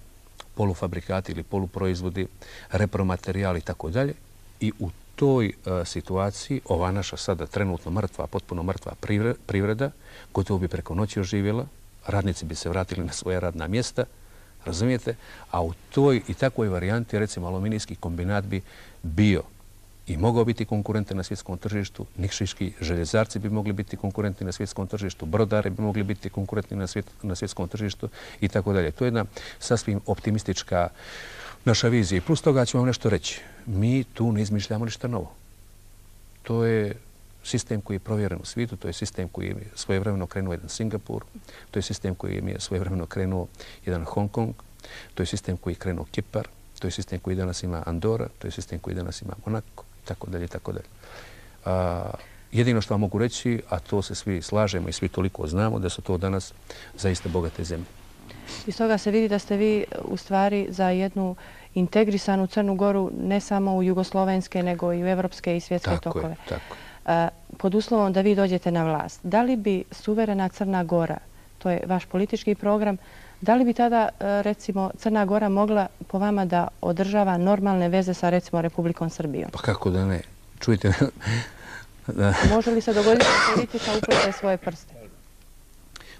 polufabrikati ili poluproizvodi, repromaterijali i tako dalje. I u toj a, situaciji ova naša sada trenutno mrtva, potpuno mrtva privreda, gotovo bi preko noći oživjela, radnici bi se vratili na svoje radna mjesta, razumijete? A u toj i takvoj varijanti, recimo, aluminijski kombinat bi bio i mogao biti konkurentan na svjetskom tržištu, nikšiški željezarci bi mogli biti konkurentni na svjetskom tržištu, brodari bi mogli biti konkurentni na, svjet, na svjetskom tržištu i tako dalje. To je jedna sasvim optimistička naša vizija. I plus toga ću vam nešto reći. Mi tu ne izmišljamo ništa novo. To je sistem koji je provjeren u svijetu, to je sistem koji je svojevremeno krenuo jedan Singapur, to je sistem koji je svojevremeno krenuo jedan Hong Kong, to je sistem koji je krenuo Kipar, to je sistem koji danas ima Andora, to je sistem koji danas ima Monako, i tako dalje, i tako dalje. Jedino što vam mogu reći, a to se svi slažemo i svi toliko znamo, da su to danas zaista bogate zemlje. Iz toga se vidi da ste vi u stvari za jednu integrisanu Crnu Goru ne samo u jugoslovenske, nego i u evropske i svjetske tako tokove. Je, tako je. Pod uslovom da vi dođete na vlast, da li bi suverena Crna Gora, to je vaš politički program, da li bi tada, recimo, Crna Gora mogla po vama da održava normalne veze sa, recimo, Republikom Srbijom? Pa kako da ne? Čujte... Može li se dogoditi da politika uplete svoje prste?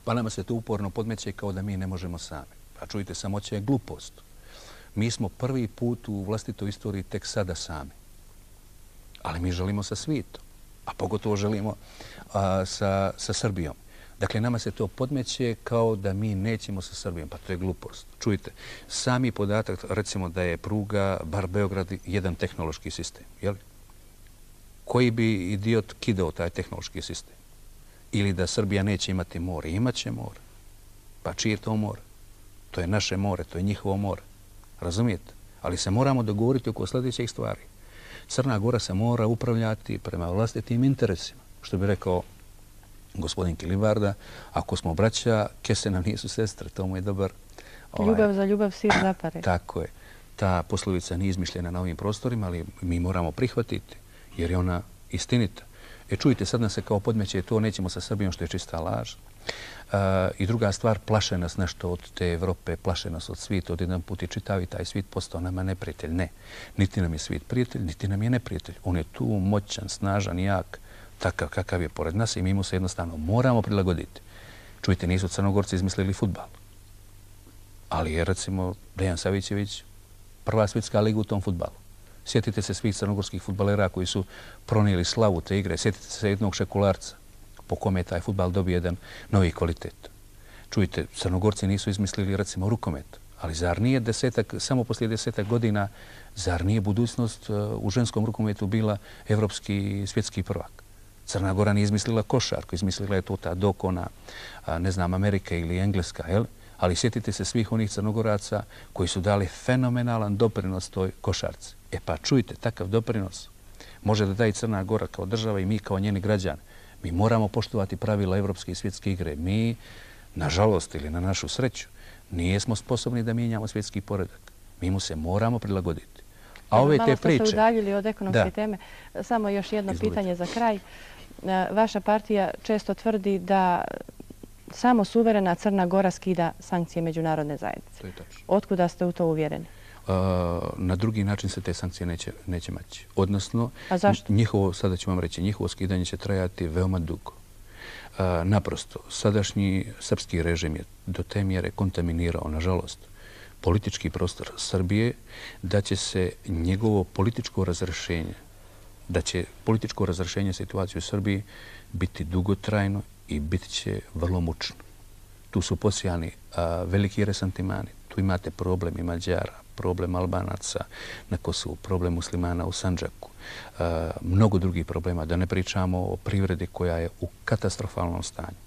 Pa nama se to uporno podmeće kao da mi ne možemo sami. A čujte, samoća je glupost. Mi smo prvi put u vlastitoj istoriji tek sada sami. Ali mi želimo sa svijetom. A pogotovo želimo a, sa, sa Srbijom. Dakle, nama se to podmeće kao da mi nećemo sa Srbijom. Pa to je glupost. Čujte, sami podatak, recimo da je pruga bar Beograd jedan tehnološki sistem. Jel? Koji bi idiot kidao taj tehnološki sistem? Ili da Srbija neće imati more? Imaće more. Pa čije je to more? To je naše more, to je njihovo more. Razumijete? Ali se moramo dogovoriti oko sljedećih stvari. Crna Gora se mora upravljati prema vlastitim interesima. Što bi rekao gospodin Kilibarda, ako smo braća, kese nam nisu sestre, to mu je dobar... Ljubav za ljubav, sir zapare. Tako je. Ta poslovica nije izmišljena na ovim prostorima, ali mi moramo prihvatiti, jer je ona istinita. E čujte, sad nas se kao podmeće, to nećemo sa Srbijom, što je čista laž. I druga stvar, plaše nas nešto od te Evrope, plaše nas od svijeta, od jedan put i čitavi taj svijet postao nama neprijatelj. Ne, niti nam je svijet prijatelj, niti nam je neprijatelj. On je tu moćan, snažan, jak, takav kakav je pored nas i mi mu se jednostavno moramo prilagoditi. Čujte, nisu Crnogorci izmislili fudbal. Ali je, recimo, Dejan Savićević prva svjetska liga u tom fudbalu. Sjetite se svih crnogorskih fudbalera koji su pronijeli slavu te igre. Sjetite se jednog Šekularca po kome je taj fudbal dobio jedan novi kvalitet. Čujte, Crnogorci nisu izmislili, recimo, rukomet. Ali zar nije desetak, samo poslije desetak godina, zar nije budućnost u ženskom rukometu bila evropski svjetski prvak? Crna Gora nije izmislila košarku, izmislila je to ta dokona, ne znam, Amerika ili Engleska, jel? Ali sjetite se svih onih Crnogoraca koji su dali fenomenalan doprinos toj košarci. E pa čujte, takav doprinos može da da i Crna Gora kao država i mi kao njeni građani. Mi moramo poštovati pravila evropske i svjetske igre. Mi, nažalost ili na našu sreću, nijesmo sposobni da mijenjamo svjetski poredak. Mi mu se moramo prilagoditi. A ove te priče... Malo ste se udaljili od ekonomske teme. Samo još jedno pitanje za kraj. Vaša partija često tvrdi da samo suverena Crna Gora skida sankcije međunarodne zajednice. To je tačno. Otkuda ste u to uvjereni? Na drugi način se te sankcije neće, neće maći. Odnosno, a zašto? Njihovo, sada ću vam reći, njihovo skidanje će trajati veoma dugo. Naprosto, sadašnji srpski režim je do te mjere kontaminirao, nažalost, politički prostor Srbije, da će se njegovo političko razrešenje, da će političko razrešenje situacije u Srbiji biti dugotrajno i bit će vrlo mučno. Tu su posijani veliki resentimani. Tu imate problem i Mađara, problem Albanaca na Kosovu, problem muslimana u Sandžaku, mnogo drugih problema, da ne pričamo o privredi koja je u katastrofalnom stanju.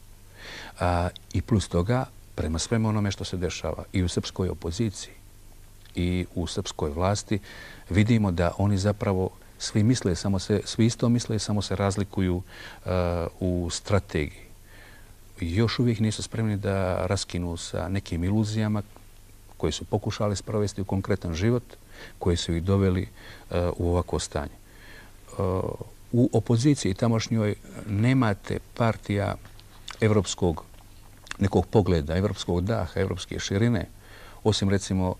I plus toga, prema svemu onome što se dešava i u srpskoj opoziciji i u srpskoj vlasti, vidimo da oni zapravo svi misle, samo se, svi isto misle, samo se razlikuju u strategiji. Još uvijek nisu spremni da raskinu sa nekim iluzijama koje su pokušali sprovesti u konkretan život, koje su ih doveli u ovako stanje. U opoziciji tamošnjoj nemate partija evropskog nekog pogleda, evropskog daha, evropske širine, osim recimo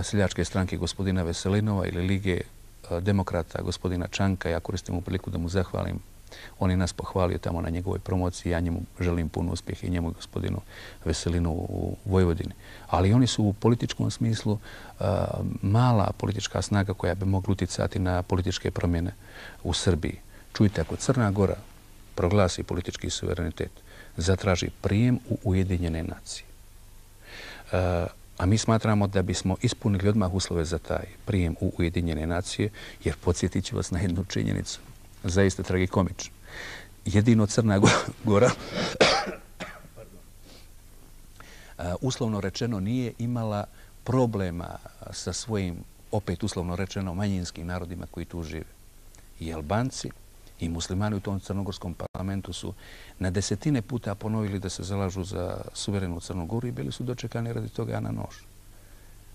seljačke stranke gospodina Veselinova ili Lige demokrata gospodina Čanka. Ja koristim u priliku da mu zahvalim. On je nas pohvalio tamo na njegovoj promociji. Ja njemu želim puno uspjeha i njemu gospodinu Veselinu u Vojvodini. Ali oni su u političkom smislu uh, mala politička snaga koja bi mogla uticati na političke promjene u Srbiji. Čujte, ako Crna Gora proglasi politički suverenitet, zatraži prijem u Ujedinjene nacije, uh, A mi smatramo da bismo ispunili odmah uslove za taj prijem u Ujedinjene nacije, jer podsjetit ću vas na jednu činjenicu, zaista tragikomično. Jedino Crna Gora, uslovno rečeno, nije imala problema sa svojim, opet uslovno rečeno, manjinskim narodima koji tu žive. I Albanci i muslimani u tom crnogorskom parlamentu su na desetine puta ponovili da se zalažu za suverenu Crnu Goru i bili su dočekani radi toga na nož.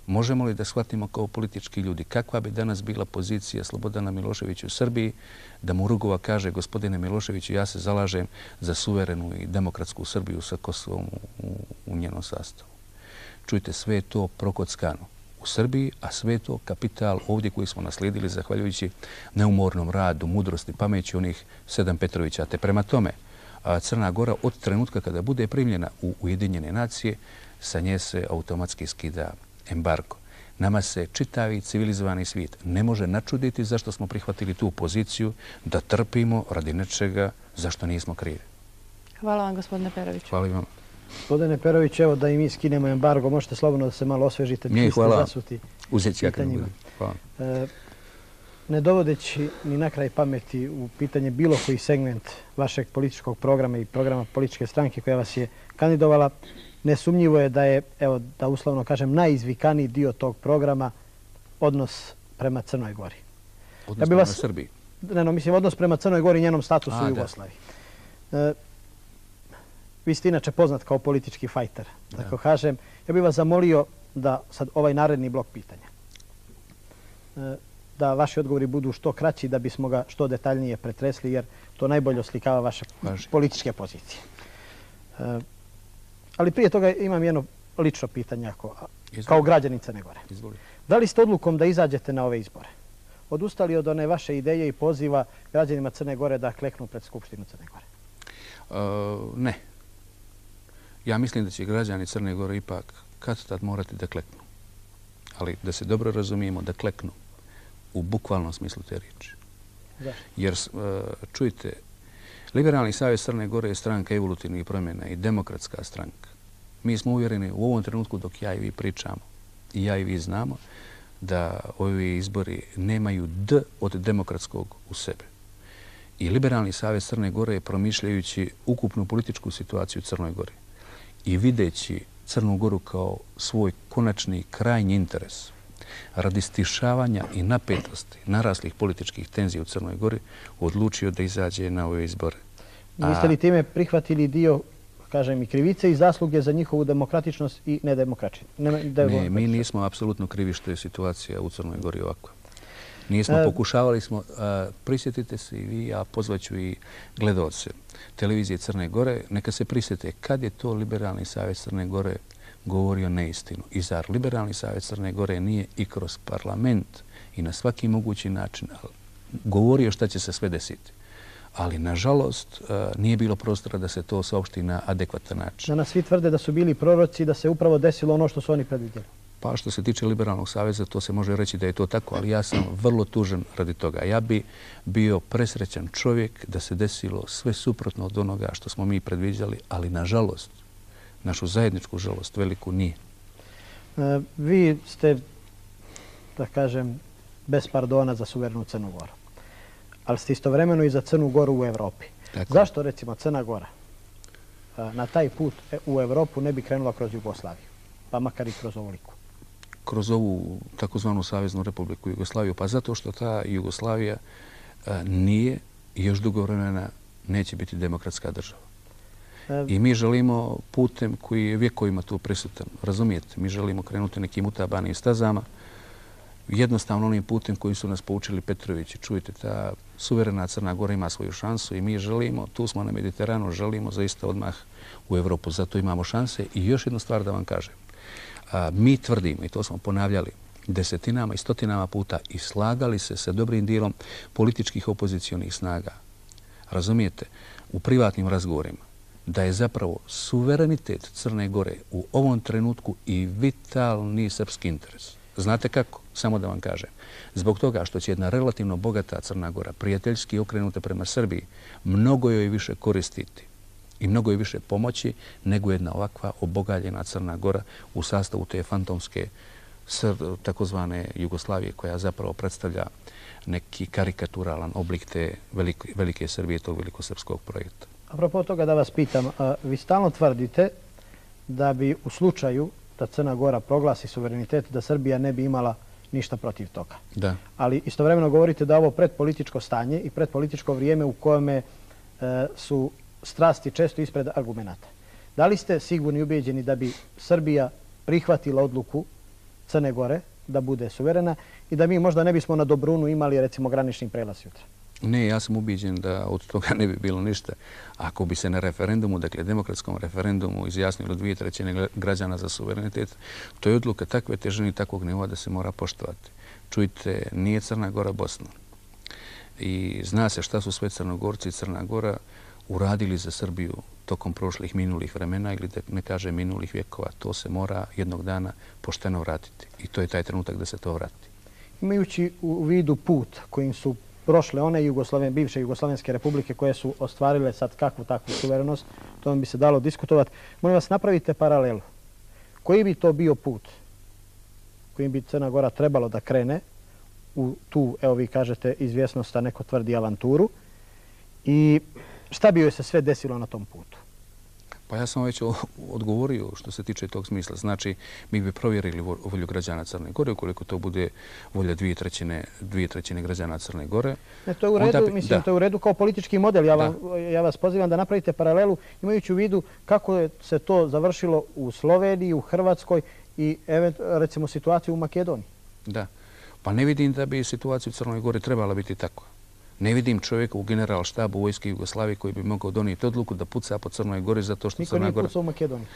Možemo li da shvatimo kao politički ljudi kakva bi danas bila pozicija Slobodana Miloševića u Srbiji, da mu Rugova kaže: gospodine Miloševiću, ja se zalažem za suverenu i demokratsku Srbiju sa Kosovom u, u njenom sastavu. Čujte, sve je to prokockano u Srbiji, a sve je to kapital ovdje koji smo naslijedili zahvaljujući neumornom radu, mudrosti, pameći onih sedam Petrovića. Te prema tome, Crna Gora od trenutka kada bude primljena u Ujedinjene nacije, sa nje se automatski skida embargo. Nama se čitavi civilizovani svijet ne može načuditi zašto smo prihvatili tu poziciju da trpimo radi nečega zašto nismo krivi. Hvala vam, gospodine Peroviću. Hvala vam. Gospodine Perović, evo da i mi skinemo embargo, možete slobodno da se malo osvežite. Nije, hvala. Uzet ću ja kad budem. Hvala. E, ne dovodeći ni na kraj pameti u pitanje bilo koji segment vašeg političkog programa i programa političke stranke koja vas je kandidovala, nesumnjivo je da je, evo da uslovno kažem, najizvikaniji dio tog programa odnos prema Crnoj Gori. Odnos ja prema vas, Srbiji? Ne, no, mislim, odnos prema Crnoj Gori i njenom statusu A, u Jugoslaviji. E, vi ste inače poznat kao politički fajter, tako da. kažem. Ja bih vas zamolio da sad ovaj naredni blok pitanja, e, da vaši odgovori budu što kraći, da bismo ga što detaljnije pretresli, jer to najbolje oslikava vaše Važi. političke pozicije. E, Ali prije toga imam jedno lično pitanje ako, kao građanin Crne Gore. Izvoli. Da li ste odlukom da izađete na ove izbore odustali od one vaše ideje i poziva građanima Crne Gore da kleknu pred Skupštinu Crne Gore? Uh, ne. Ja mislim da će građani Crne Gore ipak kad tad morati da kleknu. Ali da se dobro razumijemo, da kleknu u bukvalnom smislu te riječi. Zašto? Jer, uh, čujte, Liberalni savez Crne Gore je stranka evolutivnih promjena i demokratska stranka. Mi smo uvjereni u ovom trenutku dok ja i vi pričamo, i ja i vi znamo, da ovi izbori nemaju D od demokratskog u sebe. I Liberalni savez Crne Gore je, promišljajući ukupnu političku situaciju u Crnoj Gori i videći Crnu Goru kao svoj konačni krajnji interes radi stišavanja i napetosti naraslih političkih tenzija u Crnoj Gori, odlučio da izađe na ove izbore. Niste li time prihvatili dio, kažem, i krivice i zasluge za njihovu demokratičnost i nedemokratičnost? Ne, mi nismo apsolutno krivi što je situacija u Crnoj Gori ovakva. Nismo, e... pokušavali smo, a, prisjetite se i vi, a pozvaću i gledalce televizije Crne Gore, neka se prisjete kad je to Liberalni savez Crne Gore govorio neistinu. I zar Liberalni savez Crne Gore nije i kroz parlament i na svaki mogući način govorio šta će se sve desiti. Ali, nažalost, nije bilo prostora da se to saopšti na adekvatan način. Danas svi tvrde da su bili proroci, da se upravo desilo ono što su oni predvidjeli. Pa što se tiče Liberalnog saveza, to se može reći da je to tako, ali ja sam vrlo tužan radi toga. Ja bi bio presrećan čovjek da se desilo sve suprotno od onoga što smo mi predviđali, ali, nažalost, našu zajedničku žalost veliku nije. E, vi ste, da kažem, bez pardona za suverenu Crnu Goru. Ali ste istovremeno i za Crnu Goru u Evropi. Tako. Zašto, recimo, Crna Gora na taj put u Evropu ne bi krenula kroz Jugoslaviju, pa makar i kroz ovoliku? Kroz ovu takozvanu Saveznu Republiku Jugoslaviju? Pa zato što ta Jugoslavija nije i još dugo vremena neće biti demokratska država. I mi želimo putem koji je vjekovima tu prisutan. Razumijete? Mi želimo krenuti nekim utabanim stazama, jednostavno onim putem koji su nas poučili Petrovići. Čujte, ta suverena Crna Gora ima svoju šansu i mi želimo, tu smo na Mediteranu, želimo zaista odmah u Evropu. Zato imamo šanse. I još jednu stvar da vam kažem. A, mi tvrdimo, i to smo ponavljali desetinama i stotinama puta, i slagali se sa dobrim dijelom političkih opozicionih snaga. Razumijete? U privatnim razgovorima, da je zapravo suverenitet Crne Gore u ovom trenutku i vitalni srpski interes. Znate kako? Samo da vam kažem. Zbog toga što će jedna relativno bogata Crna Gora, prijateljski okrenuta prema Srbiji, mnogo joj više koristiti i mnogo je više pomoći nego jedna ovakva obogaljena Crna Gora u sastavu te fantomske takozvane Jugoslavije koja zapravo predstavlja neki karikaturalan oblik te velike, velike Srbije, tog velikosrpskog projekta. Apropo toga da vas pitam, vi stalno tvrdite da bi u slučaju da Crna Gora proglasi suverenitet, da Srbija ne bi imala ništa protiv toga. Da. Ali istovremeno govorite da ovo predpolitičko stanje i predpolitičko vrijeme u kojeme e, su strasti često ispred argumenta. Da li ste sigurni i ubeđeni da bi Srbija prihvatila odluku Crne Gore da bude suverena i da mi možda ne bismo na Dobrunu imali recimo granični prelaz jutra? Ne, ja sam ubiđen da od toga ne bi bilo ništa. Ako bi se na referendumu, dakle demokratskom referendumu, izjasnilo dvije trećine građana za suverenitet, to je odluka takve težine i takvog nivoa da se mora poštovati. Čujte, nije Crna Gora Bosna. I zna se šta su sve Crnogorci i Crna Gora uradili za Srbiju tokom prošlih minulih vremena ili da ne kaže minulih vjekova. To se mora jednog dana pošteno vratiti. I to je taj trenutak da se to vrati. Imajući u vidu put kojim su prošle one Jugoslavene, bivše Jugoslovenske republike koje su ostvarile sad kakvu takvu suverenost, to vam bi se dalo diskutovati. Molim vas, napravite paralelu. Koji bi to bio put kojim bi Crna Gora trebalo da krene u tu, evo vi kažete, izvjesnost, a neko tvrdi avanturu, i šta bi joj se sve desilo na tom putu? Pa ja sam već odgovorio što se tiče tog smisla. Znači, mi bi provjerili volju građana Crne Gore, ukoliko to bude volja dvije trećine, dvije trećine građana Crne Gore. Ne, to je u redu, bi, mislim, da. to je u redu kao politički model. Ja, vam, ja vas pozivam da napravite paralelu imajući u vidu kako je se to završilo u Sloveniji, u Hrvatskoj i recimo situaciju u Makedoniji. Da. Pa ne vidim da bi situacija u Crnoj Gori trebala biti tako. Ne vidim čovjeka u generalštabu vojske Jugoslavije koji bi mogao donijeti odluku da puca po Crnoj Gori zato što Crna Gora... Niko nije pucao u Makedoniji.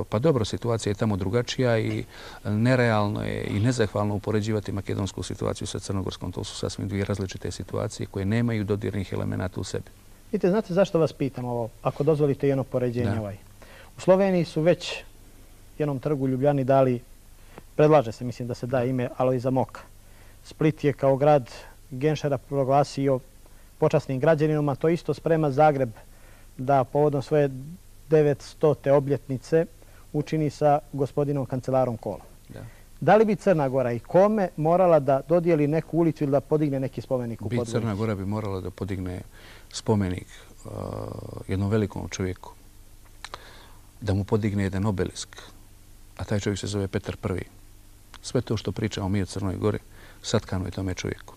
Pa dobro, situacija je tamo drugačija i nerealno je i nezahvalno upoređivati makedonsku situaciju sa crnogorskom. To su sasvim dvije različite situacije koje nemaju dodirnih elemenata u sebi. Vidite, znate zašto vas pitam ovo, ako dozvolite jedno poređenje ovaj. U Sloveniji su već jednom trgu u Ljubljani dali, predlaže se, mislim da se da ime Alojza Moka. Split je kao grad Genšera proglasio počasnim građaninom, a to isto sprema Zagreb da povodom svoje devetstote obljetnice učini sa gospodinom kancelarom Kolom. Da. Da li bi Crna Gora i kome morala da dodijeli neku ulicu ili da podigne neki spomenik u Podgorici? Crna Gora bi morala da podigne spomenik uh, jednom velikom čovjeku, da mu podigne jedan obelisk, a taj čovjek se zove Petar Prvi. Sve to što pričamo mi o Crnoj Gori satkano je tome čovjeku.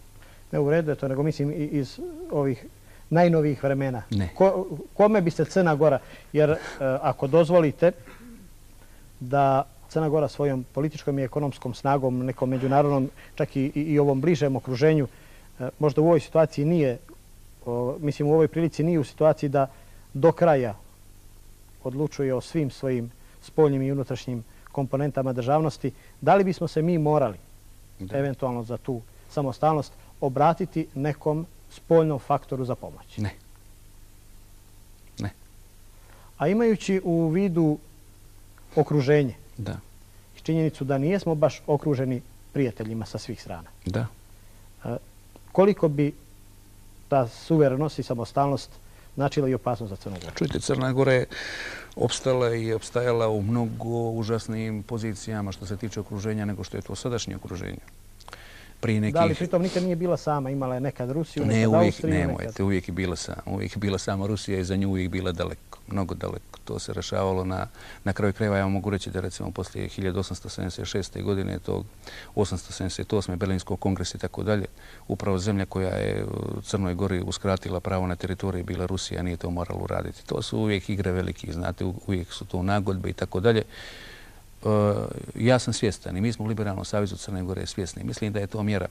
Ne u redu je to, nego mislim iz ovih najnovijih vremena. Ne. Ko, kome bi se Crna Gora, jer e, ako dozvolite da Crna Gora svojom političkom i ekonomskom snagom, nekom međunarodnom, čak i, i ovom bližem okruženju, e, možda u ovoj situaciji nije, o, mislim u ovoj prilici nije u situaciji da do kraja odlučuje o svim svojim spoljnim i unutrašnjim komponentama državnosti, da li bismo se mi morali da. eventualno za tu samostalnost obratiti nekom spoljnom faktoru za pomoć? Ne. Ne. A imajući u vidu okruženje da. i činjenicu da nijesmo baš okruženi prijateljima sa svih strana, da. koliko bi ta suverenost i samostalnost značila i opasnost za Crnu Goru? Čujte, Crna Gora je opstala i opstajala u mnogo užasnijim pozicijama što se tiče okruženja nego što je to sadašnje okruženje. Nekih... Da li pritom nikad nije bila sama, imala je nekad Rusiju, nekad ne, uvijek, Austriju? Ne, nemojte, uvijek je bila sama. Uvijek je bila sama Rusija i za nju uvijek bila daleko, mnogo daleko. To se rešavalo na, na kraju krajeva. Ja mogu reći da recimo poslije hiljadu osamsto sedamdeset šeste. godine, tog osamsto sedamdeset osme. Berlinskog kongresa i tako dalje, upravo zemlja koja je Crnoj Gori uskratila pravo na teritoriji bila Rusija, nije to moralo uraditi. To su uvijek igre veliki, znate, uvijek su to nagodbe i tako dalje. Ja sam svjestan i mi smo u Liberalnom savezu Crne Gore svjesni. Mislim da je to mjera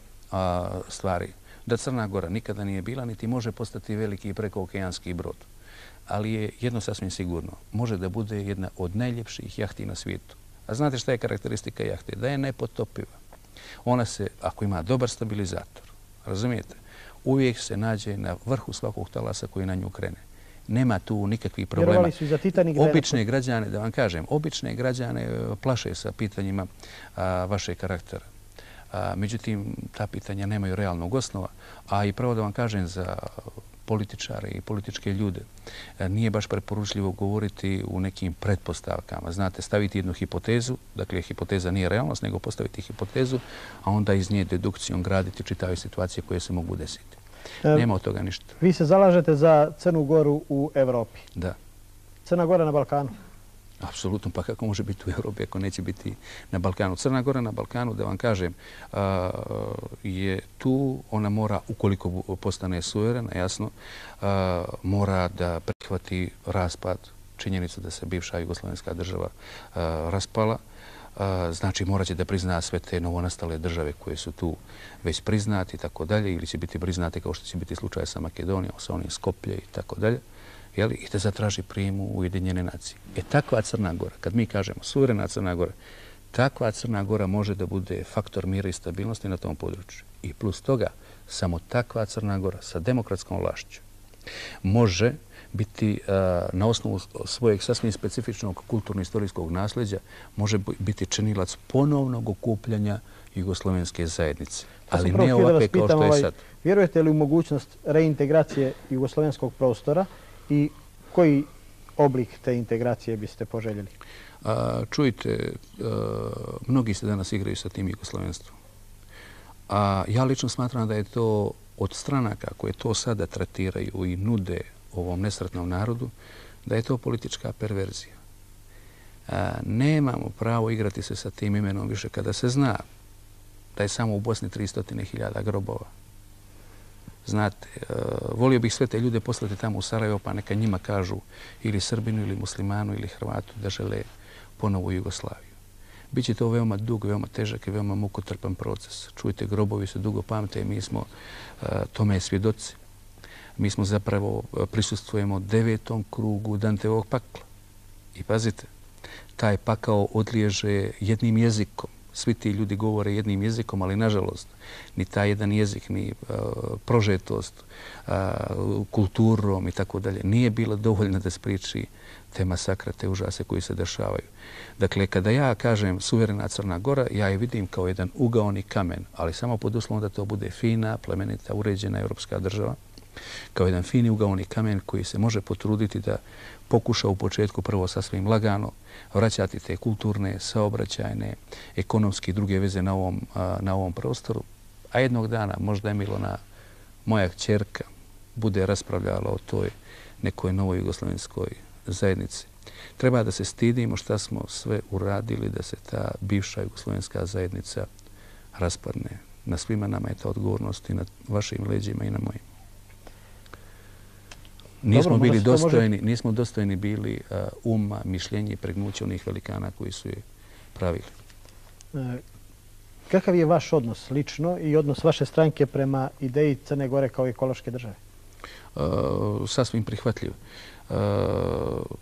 stvari. Da Crna Gora nikada nije bila, niti može postati veliki prekookeanski brod. Ali je jedno sasvim sigurno. Može da bude jedna od najljepših jahti na svijetu. A znate šta je karakteristika jahte? Da je nepotopiva. Ona se, ako ima dobar stabilizator, razumijete, uvijek se nađe na vrhu svakog talasa koji na nju krene. Nema tu nikakvih problema. Vjerovali su i za Titanic. Obične građane, da vam kažem, obične građane plaše sa pitanjima a, vašeg karaktera. A, međutim, ta pitanja nemaju realnog osnova. A i pravo da vam kažem za političare i političke ljude nije baš preporučljivo govoriti u nekim pretpostavkama. Znate, staviti jednu hipotezu, dakle hipoteza nije realnost, nego postaviti hipotezu, a onda iz nje dedukcijom graditi čitave situacije koje se mogu desiti. Nema od toga ništa. Vi se zalažete za Crnu Goru u Evropi. Da. Crna Gora na Balkanu? Apsolutno, pa kako može biti u Evropi ako neće biti na Balkanu? Crna Gora na Balkanu, da vam kažem, je tu, ona mora, ukoliko postane suverena, jasno, mora da prihvati raspad, činjenicu da se bivša jugoslovenska država raspala. Znači, morat će da prizna sve te novonastale države koje su tu već priznati i tako dalje, ili će biti priznate kao što će biti slučaj sa Makedonijom, sa onim Skoplje i tako dalje. I da zatraži prijem u Ujedinjene nacije. E takva Crna Gora, kad mi kažemo suverena Crna Gora, takva Crna Gora može da bude faktor mira i stabilnosti na tom području. I plus toga, samo takva Crna Gora sa demokratskom vlašću može biti na osnovu svojeg sasvim specifičnog kulturno-istorijskog nasljeđa, može biti činilac ponovnog okupljanja jugoslovenske zajednice. Ali ne ovakve kao što je sad. Vjerujete li u mogućnost reintegracije jugoslovenskog prostora i koji oblik te integracije biste poželjeli? Čujte, mnogi se danas igraju sa tim jugoslovenstvom. A ja lično smatram da je to od stranaka koje to sada tretiraju i nude ovom nesretnom narodu, da je to politička perverzija. Nemamo pravo igrati se sa tim imenom više kada se zna da je samo u Bosni tristo hiljada grobova. Znate, volio bih sve te ljude poslati tamo u Sarajevo, pa neka njima kažu ili Srbinu, ili Muslimanu, ili Hrvatu da žele ponovu Jugoslaviju. Biće to veoma dug, veoma težak i veoma mukotrpan proces. Čujte, grobovi se dugo pamte i mi smo tome svjedoci. Mi smo zapravo prisustvujemo devetom krugu Danteovog pakla. I pazite, taj pakao odliježe jednim jezikom. Svi ti ljudi govore jednim jezikom, ali nažalost, ni taj jedan jezik, ni prožetost kulturom i tako dalje, nije bila dovoljna da spriči te masakre, te užase koji se dešavaju. Dakle, kada ja kažem suverena Crna Gora, ja je vidim kao jedan ugaoni kamen, ali samo pod uslovom da to bude fina, plemenita, uređena evropska država, kao jedan fini ugaoni kamen koji se može potruditi da pokuša u početku prvo sasvim lagano vraćati te kulturne, saobraćajne, ekonomske i druge veze na ovom, na ovom prostoru, a jednog dana možda je Milona, moja kćerka, bude raspravljala o toj nekoj novoj jugoslovenskoj zajednici. Treba da se stidimo šta smo sve uradili da se ta bivša jugoslovenska zajednica raspadne. Na svima nama je ta odgovornost i na vašim leđima i na mojim. Nismo bili dostojni, nismo dostojni bili uma, mišljenja i pregnuća onih velikana koji su je pravili. Kakav je vaš odnos lično i odnos vaše stranke prema ideji Crne Gore kao ekološke države? Sasvim prihvatljiv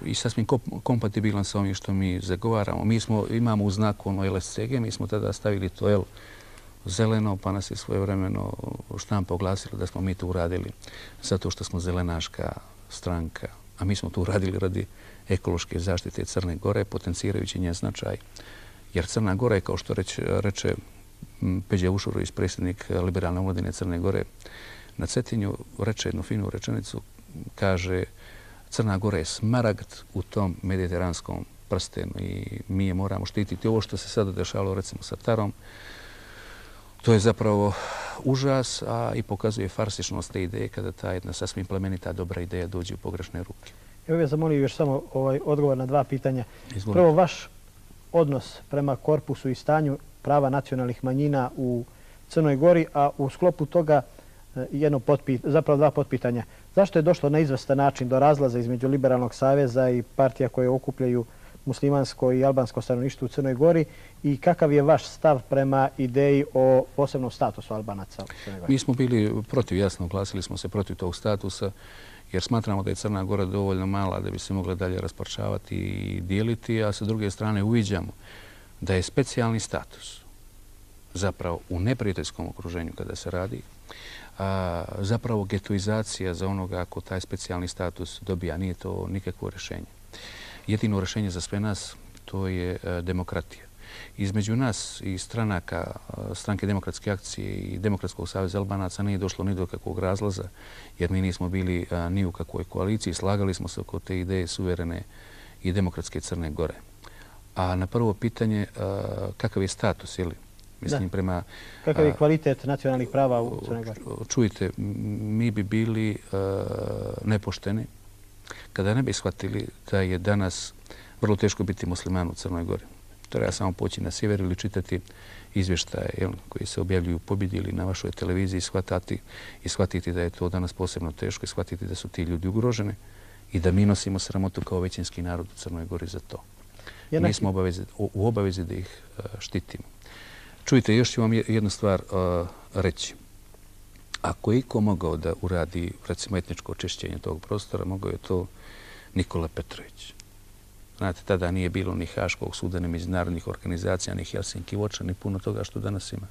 i sasvim kompatibilan sa ovim što mi zagovaramo. Mi imamo u znaku ono L S C G, mi smo tada stavili to L zeleno, pa nas je svojevremeno štampa oglasila da smo mi to uradili zato što smo zelenaška stranka, a mi smo to uradili radi ekološke zaštite Crne Gore, potencirajući njen značaj. Jer Crna Gora je, kao što reče Peđa Ušurović, predsjednik Liberalne omladine Crne Gore, na Cetinju reče jednu finu rečenicu, kaže Crna Gora je smaragd u tom mediteranskom prstenu i mi je moramo štititi. Ovo što se sada dešavalo recimo sa Tarom, to je zapravo užas, a i pokazuje farsičnost te ideje kada ta jedna sasvim plemenita dobra ideja dođe u pogrešne ruke. Evo bih zamolio još samo odgovor na dva pitanja. Prvo, vaš odnos prema korpusu i stanju prava nacionalnih manjina u Crnoj Gori, a u sklopu toga jedno zapravo dva potpitanja. Zašto je došlo na izvestan način do razlaza između Liberalnog saveza i partija koje okupljaju muslimansko i albansko stanovništvo u Crnoj Gori i kakav je vaš stav prema ideji o posebnom statusu Albanaca u Crnoj Gori? Mi smo bili protiv, jasno, glasili smo se protiv tog statusa jer smatramo da je Crna Gora dovoljno mala da bi se mogla dalje rasparčavati i dijeliti, a sa druge strane uviđamo da je specijalni status zapravo u neprijateljskom okruženju kada se radi, a zapravo getoizacija za onoga ako taj specijalni status dobija, nije to nikakvo rješenje. Jedino rješenje za sve nas to je demokratija. između nas i stranaka, Stranke demokratske akcije i Demokratskog saveza Albanaca nije došlo ni do kakvog razlaza, jer mi nismo bili ni u kakvoj koaliciji. Slagali smo se oko te ideje suverene i demokratske Crne Gore. A na prvo pitanje, kakav je status, ili? Mislim, prema... Kakav je kvalitet nacionalnih prava u Crnoj Gori? Čujte, mi bi bili nepošteni kada ne bi shvatili da je danas vrlo teško biti musliman u Crnoj Gori. Treba samo poći na sjever ili čitati izvještaje koji se objavljuju pobjedi ili na vašoj televiziji i shvatiti da je to danas posebno teško i shvatiti da su ti ljudi ugroženi i da mi nosimo sramotu kao većinski narod u Crnoj Gori za to. Mi smo u obavezi da ih štitimo. Čujte, još ću vam jednu stvar reći. Ako je iko mogao da uradi, recimo, etničko očišćenje tog prostora, mogao je to Nikola Petrović. Znate, tada nije bilo ni Haškog suda, ni međunarodnih organizacija, ni Helsinki voča, ni puno toga što danas ima.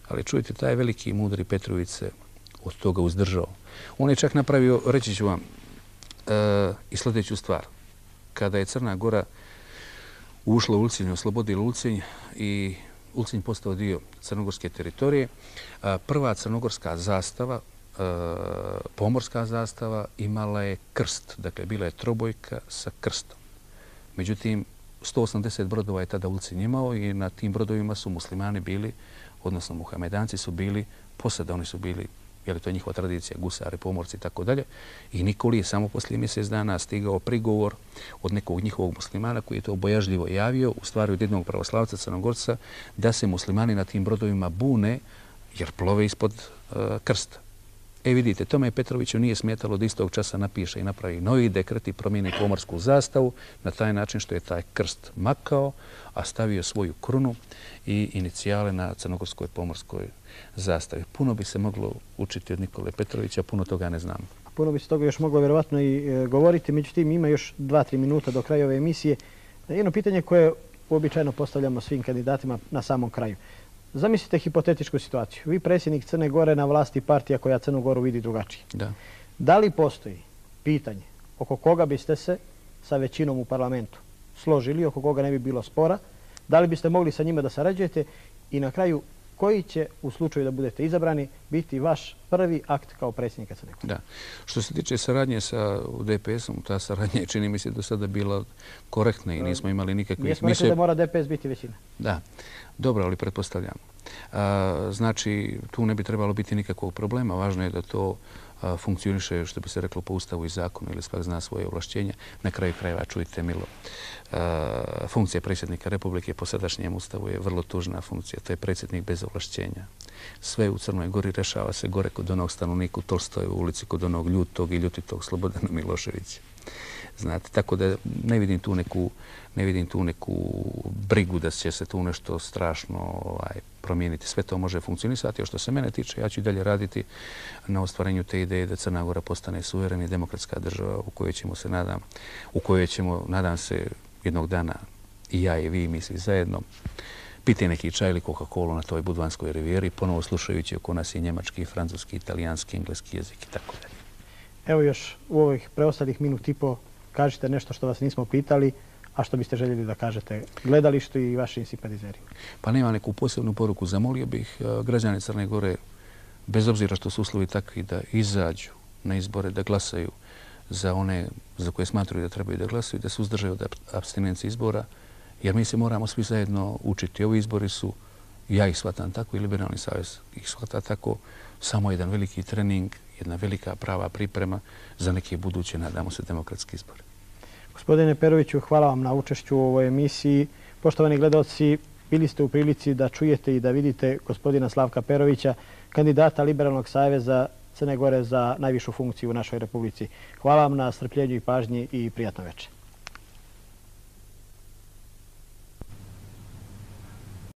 Ali čujte, taj veliki i mudri Petrović se od toga uzdržao. On je čak napravio, reći ću vam, i sljedeću stvar. Kada je Crna Gora ušla u Ulcinj, oslobodila Ulcinj i Ulcinj postao dio crnogorske teritorije, prva crnogorska zastava, pomorska zastava, imala je krst. Dakle, bila je trobojka sa krstom. Međutim, sto osamdeset brodova je tada Ulcinj imao i na tim brodovima su muslimani bili, odnosno muhamedanci su bili posada. Oni su bili, je li to njihova tradicija, gusari, pomorci i tako dalje. I Nikoli je samo poslije mjesec dana stigao prigovor od nekog njihovog muslimana koji je to bojažljivo javio, u stvari od jednog pravoslavca Crnogorca, da se muslimani na tim brodovima bune jer plove ispod krsta. E vidite, tome Petroviću nije smetalo da istog časa napiše i napravi novi dekret i promijeni pomorsku zastavu na taj način što je taj krst makao, a stavio svoju krunu i inicijale na crnogorskoj pomorskoj zastavi. Puno bi se moglo učiti od Nikole Petrovića, puno toga ne znamo. Puno bi se toga još moglo vjerovatno i govoriti, međutim ima još dva, tri minuta do kraja ove emisije. Jedno pitanje koje uobičajeno postavljamo svim kandidatima na samom kraju. Zamislite hipotetičku situaciju. Vi predsjednik Crne Gore na vlasti partija koja Crnu Goru vidi drugačije. Da. Da li postoji pitanje oko koga biste se sa većinom u parlamentu složili, oko koga ne bi bilo spora? Da li biste mogli sa njima da sarađujete? I na kraju, koji će u slučaju da budete izabrani biti vaš prvi akt kao predsjednika Crne Gore? Da. Što se tiče saradnje sa D P S-om, ta saradnja je, čini mi se, do sada bila korektna i nismo imali nikakvih... Nismo rekli da mora D P S biti većina. Da. Dobro, ali pretpostavljamo. Znači, tu ne bi trebalo biti nikakvog problema. Važno je da to funkcioniše, što bi se reklo, po ustavu i zakonu ili svak zna svoje ovlašćenja. Na kraju krajeva, čujte, Milo, funkcija predsjednika Republike po sadašnjem ustavu je vrlo tužna funkcija. To je predsjednik bez ovlašćenja. Sve u Crnoj Gori rešava se gore kod onog stanovnika u Tolstojevoj ulici, kod onog ljutog i ljutitog Slobodana Miloševića. Znate, tako da ne vidim tu neku, ne vidim tu neku brigu da će se tu nešto strašno ovaj, promijeniti. Sve to može funkcionisati. A što se mene tiče, ja ću i dalje raditi na ostvarenju te ideje da Crna Gora postane suverena i demokratska država u kojoj ćemo se, nadam, u kojoj ćemo, nadam se, jednog dana i ja i vi, mi svi zajedno, piti neki čaj ili Coca-Cola na toj Budvanskoj rivijeri, ponovo slušajući oko nas i njemački, francuski, italijanski, engleski jezik i tako dalje. Evo još u ovih preostalih minut i po kažite nešto što vas nismo pitali, a što biste željeli da kažete gledalištu i vašim simpatizerima. Pa nema neku posebnu poruku. Zamolio bih građane Crne Gore, bez obzira što su uslovi takvi, da izađu na izbore, da glasaju za one za koje smatruju da trebaju da glasaju, da se uzdržaju od apstinencije izbora, jer mi se moramo svi zajedno učiti. Ovi izbori su, ja ih shvatam tako i Liberalni savez ih shvata tako, samo jedan veliki trening, jedna velika prava priprema za neke buduće, nadamo se, demokratske izbore. Gospodine Peroviću, hvala vam na učešću u ovoj emisiji. Poštovani gledalci, bili ste u prilici da čujete i da vidite gospodina Slavka Perovića, kandidata Liberalnog saveza Crne Gore za najvišu funkciju u našoj Republici. Hvala vam na strpljenju i pažnji i prijatno večer.